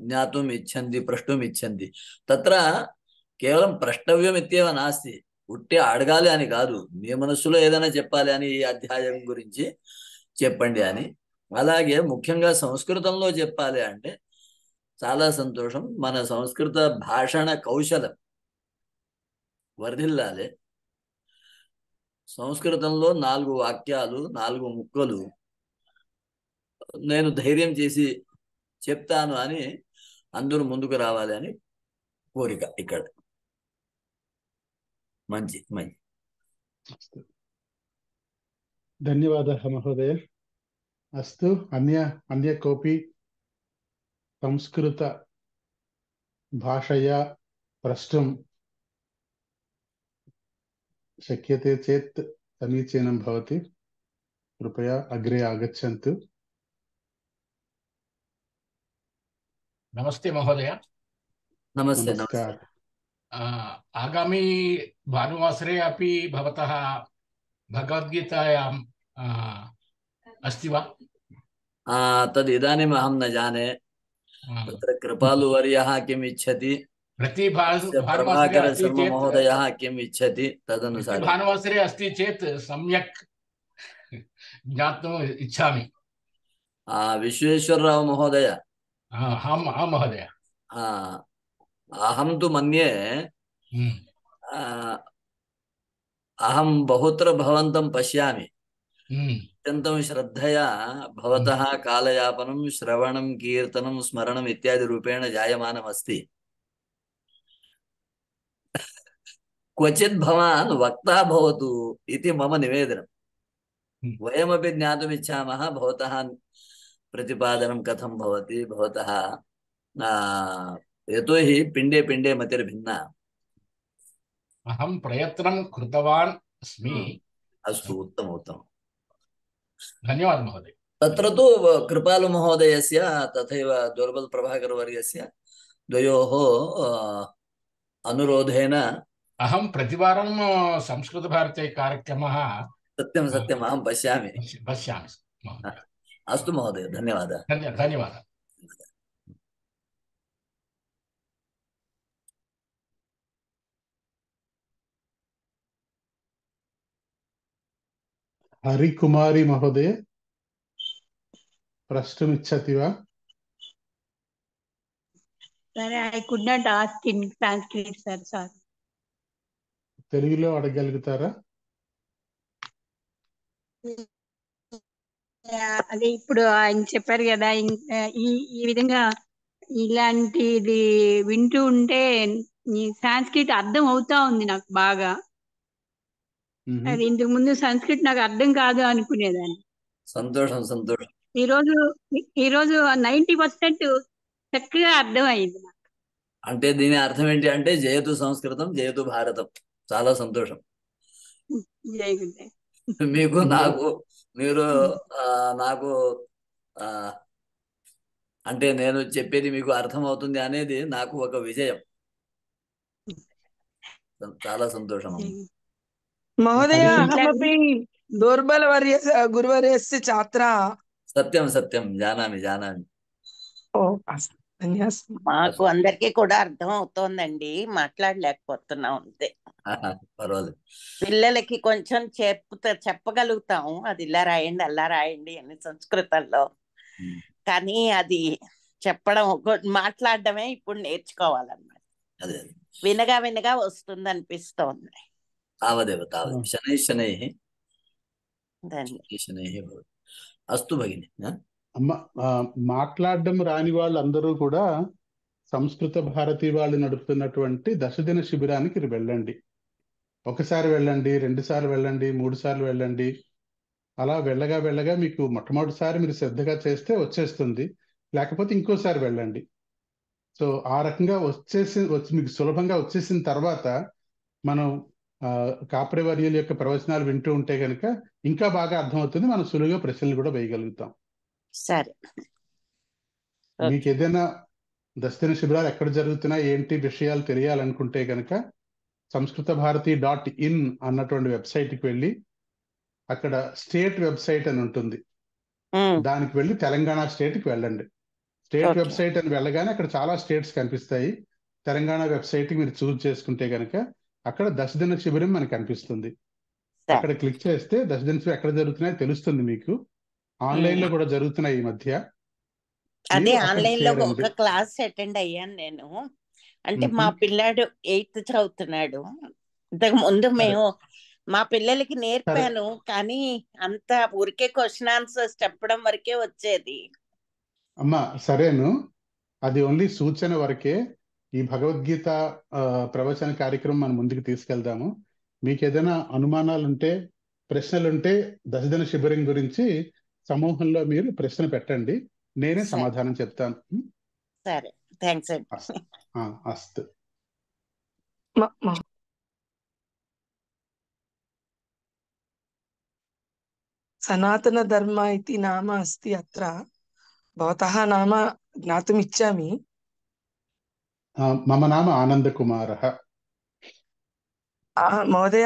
ज्ञातुम् इच्छन्ति, प्रष्टुम् इच्छन्ति. तत्र కేవలం ప్రష్టవ్యం ఇత్యేవ నాస్తి, ఉట్టి అడగాలి అని కాదు, మీ మనస్సులో ఏదైనా చెప్పాలి అని, ఈ అధ్యాయం గురించి చెప్పండి అని. అలాగే ముఖ్యంగా సంస్కృతంలో చెప్పాలి అంటే చాలా సంతోషం. మన సంస్కృత భాషణ కౌశలం వర్ధిల్లాలి. సంస్కృతంలో నాలుగు వాక్యాలు, నాలుగు ముక్కలు నేను ధైర్యం చేసి చెప్తాను అని అందరూ ముందుకు రావాలి అని కోరిక ఇక్కడ. మంచి మంచి ధన్యవాదాः మహోదయ. అస్తు. అన్య అన్య కోపి సంస్కృత భాషయా ప్రష్టుం शक्यते चेत् समीचीनं भवति. कृपया अग्रे आगच्छन्तु। नमस्ते महोदय। नमस्ते नमस्कार। नमस्ते। आगामी भानुवासरे अपि भवतः भगवद्गीतायां अस्ति वा? तद् इदानीम् अहं न जाने। तत्र कृपालुवर्यः किम् इच्छति, प्रति भानुवासरे प्रभाकर अस्ति शर्मा चेत् महोदयः किम् इच्छति तदनुसारं भानुवासरे अस्ति चेत् सम्यक् ज्ञातुम् इच्छामि। विश्वेश्वरराव महोदय, आम् आम् महोदय। अहं तु मन्ये अहं बहुत्र भवन्तं पश्यामि। अत्यन्तं श्रद्धया भवतः कालयापनं, श्रवणं, कीर्तनं, स्मरणम् इत्यादि रूपेण जायमानमस्ति। क्वचित् भवान् वक्ता भवतु इति मम निवेदनम्। वयमपि ज्ञातुमिच्छामः भवतः प्रतिपादनं कथं भवति, भवतः यतोहि पिण्डे पिण्डे मतिर्भिन्ना। अहं प्रयत्नं कृतवान् अस्मि। अस्तु, उत्तम उत्तम। धन्यवादः महोदय। तत्र तु कृपालु महोदयस्य तथैव दुर्बल प्रभाकर वर्यस्य द्वयोः अनुरोधेन अहं प्रतिवारं संस्कृतभारती कार्यक्रमः सत्यं सत्यम् अहं पश्यामि पश्यामि महोदय। अस्तु महोदय, धन्यवादः। धन्यवादः। हरिकुमारी महोदय प्रष्टुमिच्छति वा? Sir, I could not ask in Sanskrit, sir. Sorry. తెలుగులో అడగలుగుతారా? అదే ఇప్పుడు ఆయన చెప్పారు కదా, ఈ ఈ విధంగా ఇలాంటిది వింటూ ఉంటే సంస్కృత్ అర్థం అవుతా ఉంది నాకు బాగా. అది ఇంతకు ముందు సంస్కృత్ నాకు అర్థం కాదు అనుకునేదాన్ని. సంతోషం సంతోషం. ఈ రోజు ఈ రోజు నైన్టీ పర్సెంట్ చక్కగా అర్థం అయింది నాకు. అంటే దీని అర్థం ఏంటి అంటే జయతు సంస్కృతం, జయతు భారతం. చాలా సంతోషం. జై గురుదేవ్. మీకు నాకు మీరు నాకు అంటే నేను చెప్పేది మీకు అర్థం అవుతుంది అనేది నాకు ఒక విజయం. చాలా సంతోషం. महोदय अहमपि दुर्बलवर्यस्य गुरुवर्यस्य छात्रा। సత్యం సత్యం, జానామి జానామి. ఓ ధన్యవాదాలు. మాకు అందరికీ కూడా అర్థం అవుతోందండి, మాట్లాడలేకపోతున్నాం అంతే. పర్వాలేదు. పిల్లలకి కొంచెం చెప్తా చెప్పగలుగుతాం, అది ఇలా రాయండి అలా రాయండి అని సంస్కృతంలో. కానీ అది చెప్పడం మాట్లాడడమే ఇప్పుడు నేర్చుకోవాలన్నమాట. అదే వినగా వినగా వస్తుంది అనిపిస్తోంది. తావదేవ తావదేవ శనై శనై శనై. అస్తు భగిని. అమ్మ, మాట్లాడడం రాని వాళ్ళందరూ కూడా సంస్కృత భారతి వాళ్ళు నడుపుతున్నటువంటి దశదిన శిబిరానికి వెళ్ళండి. ఒకసారి వెళ్ళండి, రెండు సార్లు వెళ్ళండి, మూడు సార్లు వెళ్ళండి. అలా వెళ్ళగా వెళ్ళగా మీకు మొట్టమొదటిసారి మీరు శ్రద్ధగా చేస్తే వచ్చేస్తుంది, లేకపోతే ఇంకోసారి వెళ్ళండి. సో ఆ రకంగా వచ్చేసి వచ్చి మీకు సులభంగా వచ్చేసిన తర్వాత మనం కాప్రేవర్యుల యొక్క ప్రవచనాలు వింటూ ఉంటే కనుక ఇంకా బాగా అర్థమవుతుంది. మనం సులువుగా ప్రశ్నలు కూడా వేయగలుగుతాం. సరే, మీకు ఏదైనా దశదిన శిబిరాలు ఎక్కడ జరుగుతున్నాయి ఏంటి విషయాలు తెలియాలనుకుంటే కనుక సంస్కృత భారతి డాట్ ఇన్ అన్నటువంటి వెబ్సైట్కి వెళ్ళి అక్కడ స్టేట్ వెబ్సైట్ అని ఉంటుంది, దానికి వెళ్ళి తెలంగాణ స్టేట్కి వెళ్ళండి. స్టేట్ వెబ్సైట్ అని వెళ్ళగానే అక్కడ చాలా స్టేట్స్ కనిపిస్తాయి. తెలంగాణ వెబ్సైట్కి మీరు చూజ్ చేసుకుంటే కనుక అక్కడ దశదిన శిబిరం మనకు కనిపిస్తుంది. అక్కడ క్లిక్ చేస్తే దశదిన శిబిరం ఎక్కడ జరుగుతున్నాయో తెలుస్తుంది. మీకు ఆన్లైన్ లో కూడా జరుగుతున్నాయి ఈ మధ్య. అదే ఆన్లైన్ లో ఒక క్లాస్ అటెండ్ అయ్యాను నేను. అంటే మా పిల్లాడు ఎయిత్ చదువుతున్నాడు. ఇంతకు ముందు మేము మా పిల్లలకి నేర్పాను, కానీ అంత ఊరికే క్వశ్చన్ ఆన్సర్స్ చెప్పడం వరకే వచ్చేది. అమ్మా సరేను, అది ఓన్లీ సూచన వరకే. ఈ భగవద్గీత ప్రవచన కార్యక్రమం మనం ముందుకు తీసుకెళ్దాము. మీకు ఏదైనా అనుమానాలు ఉంటే, ప్రశ్నలు ఉంటే దశదిన శిబిరం గురించి సమూహంలో మీరు ప్రశ్న పెట్టండి, నేనే సమాధానం చెప్తాను. సరే, థ్యాంక్స్ అండి. అస్తు. सनातनधर्म इति नाम अस्ति अत्र। भवतः नाम ज्ञातुम् इच्छामि। मम नाम आनन्दकुमारः। महोदय,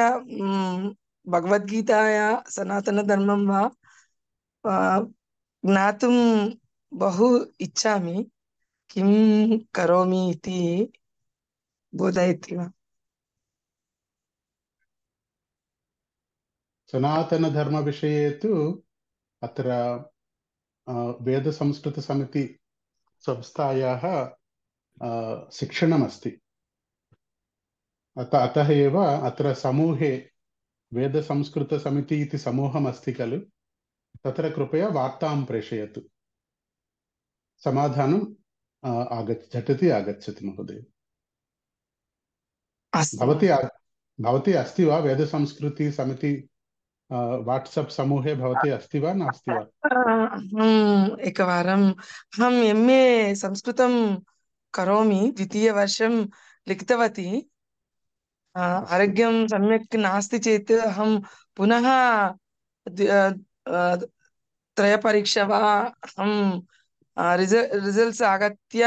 भगवद्गीताया सनातनधर्मं वा ज्ञातुं बहु इच्छामि। किं करोमि इति बोधयति वा? सनातनधर्मविषये तु अत्र वेदसंस्कृतसमिति संस्थायाः शिक्षणमस्ति। अत अतः एव अत्र समूहे वेदसंस्कृतसमिति इति समूहमस्ति खलु, तत्र कृपया वार्तां प्रेषयतु। समाधानम् आगच्छ झटिति आगच्छति महोदय। भवती भवती अस्ति वा वेदसंस्कृति समिति वाट्सप् समूहे? भवती अस्ति वा नास्ति वा? अहम् एकवारम् अहम् एम् ए संस्कृतं करोमि, द्वितीयवर्षं लिखितवती। आरोग्यं सम्यक् नास्ति चेत् अहं पुनः त्रयपरीक्षा वा अहं रिजल्ट्स् आगत्य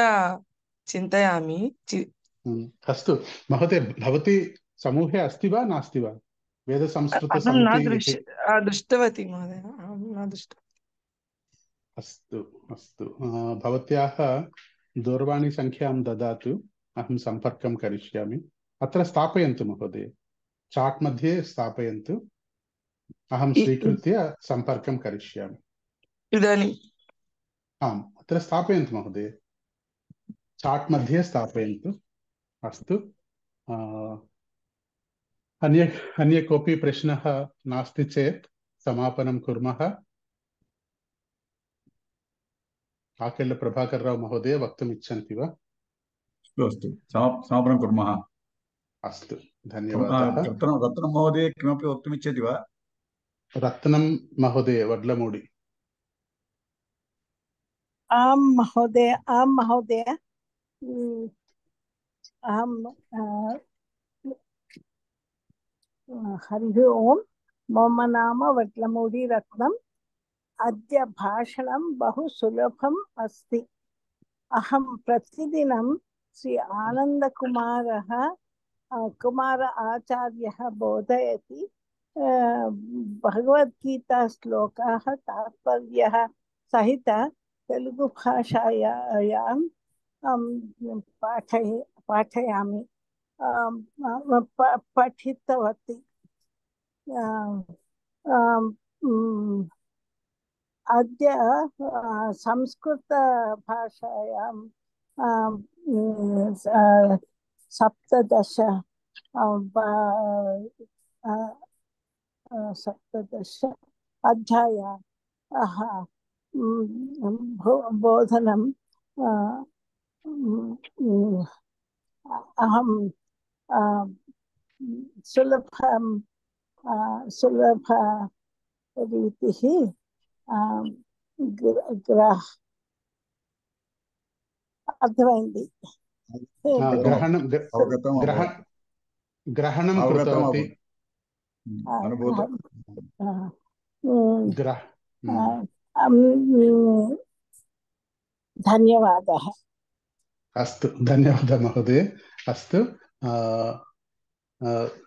चिन्तयामि। अस्तु महोदय, भवती समूहे अस्ति वा नास्ति वा? अहं न दृश् दृष्टवती महोदय, अहं न दृष्टवती। अस्तु अस्तु, भवत्याः दूरवाणीसङ्ख्यां ददातु, अहं सम्पर्कं करिष्यामि। अत्र स्थापयन्तु महोदय, चाट् मध्ये स्थापयन्तु, अहं स्वीकृत्य सम्पर्कं करिष्यामि। इदानीम् आम्, अत्र स्थापयन्तु महोदय, चाट् मध्ये स्थापयन्तु। अस्तु, अन्य अन्य कोऽपि प्रश्नः नास्ति चेत् समापनं कुर्मः। आकेल प्रभाकर राव महोदय वक्तुम् इच्छन्ति वा? अस्तु अस्तु, समापनं कुर्मः। अस्तु, धन्यवादाः। रत्नं रत्नं महोदय किमपि वक्तुम् इच्छति वा? रत्नं महोदय वड्लमूडि। आं महोदय, आं महोदय, अहं हरिः ओम्, मम नाम वड्लमूडि रत्नम्। अद्य भाषणं बहु सुलभम् अस्ति। अहं प्रतिदिनं श्री आनन्दकुमारः कुमार आचार्यः बोधयति भगवद्गीता श्लोकाः तात्पर्यः सहित तेलुगु भाषायां पाठय पाठयामि पठितवती। अद्य संस्कृतभाषायां सप्तदश सप्तदश अध्यायाः बोधनं अहं सुलभं सुलभरीतिः ग्रह अर्थమైంది। ग्रहणं ग्रहणं कृतवती। धन्यवादः। अस्तु, धन्यवादः महोदय। अस्तु,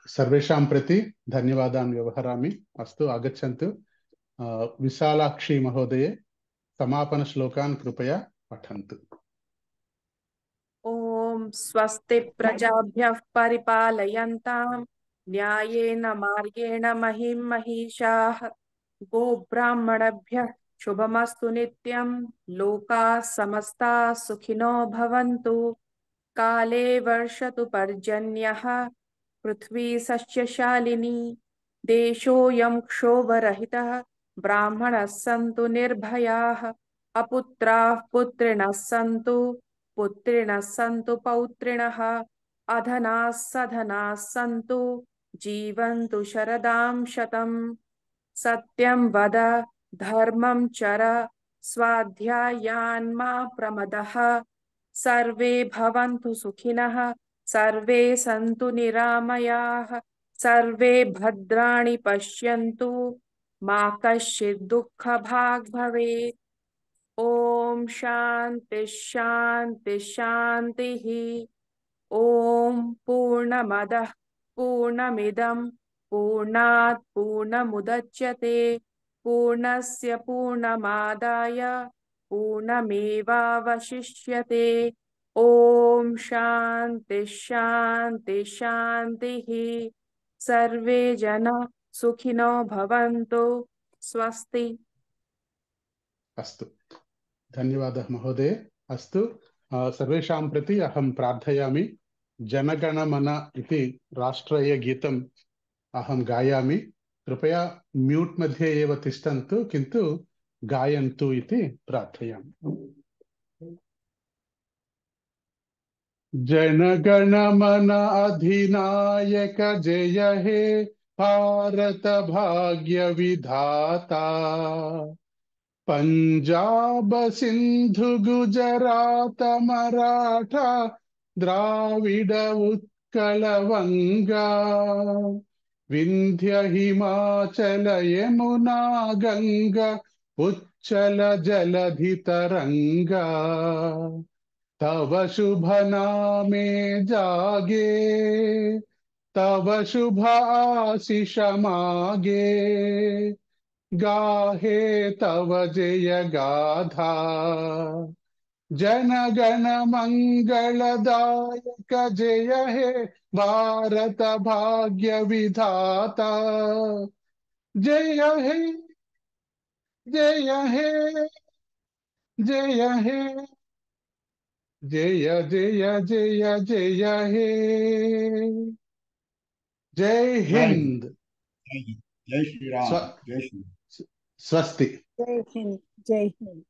सर्वेषां प्रति धन्यवादान् व्यवहरामि। अस्तु, आगच्छन्तु। विशालाक्षी महोदये समापनश्लोकान् कृपया पठन्तु। ओम स्वस्ति प्रजाभ्यः परिपालयन्तां न्यायेन मार्गेण महिं महिषाः गोब्राह्मणेभ्यः शुभमस्तु नित्यं लोकाः समस्ताः सुखिनो भवन्तु। काले वर्षतु पर्जन्यः पृथ्वी सस्यशालिनी देशोऽयं क्षोभरहितः ब्राह्मणः सन्तु निर्भयाः अपुत्राः पुत्रिणः सन्तु पुत्रिणः सन्तु पौत्रिणः अधनाः सधनाः सन्तु जीवन्तु शरदां शतम्। सत्यं वद धर्मं चर स्वाध्यायान् मा प्रमदः सर्वे भवन्तु सुखिनः सर्वे सन्तु निरामयाः सर्वे भद्राणि पश्यन्तु मा कश्चित् दुःखभाग् भवेत्। ॐ शान्ति शान्ति शान्तिः। ॐ पूर्णमदः पूर्णमिदं पूर्णात् पूर्णमुदच्यते पूर्णस्य पूर्णमादाय पूर्णमेवावशिष्यते। ॐ शान्ति शान्ति शान्तिः। सर्वे जनाः सुखिनो भवन्तु। स्वस्ति। अस्तु, धन्यवादः महोदय। अस्तु, सर्वेषां प्रति अहं प्रार्थयामि। जनगणमन इति राष्ट्रीयगीतम् अहं गायामि। कृपया म्यूट् मध्ये एव तिष्ठन्तु, किन्तु गायन्तु इति प्रार्थयामि। जनगणमन अधिनायक जय हे भारत भाग्य विधाता। पंजाब सिंधु गुजरात मराठा द्राविड उत्कल वंगा। विंध्य हिमाचल यमुना गंगा उच्चल जलधि तरंगा। तव शुभ नामे जागे तव शुभ आशीष मागे। गाहे तव जय गाथा जनगण मंगलदायक जय हे भारत भाग्य विधाता। जय हे जय हे जय हे जय जय जय जय हे। जय हिंद। जय जय श्री राम। जय श्री स्वस्ति। जय हिंद। जय हिंद।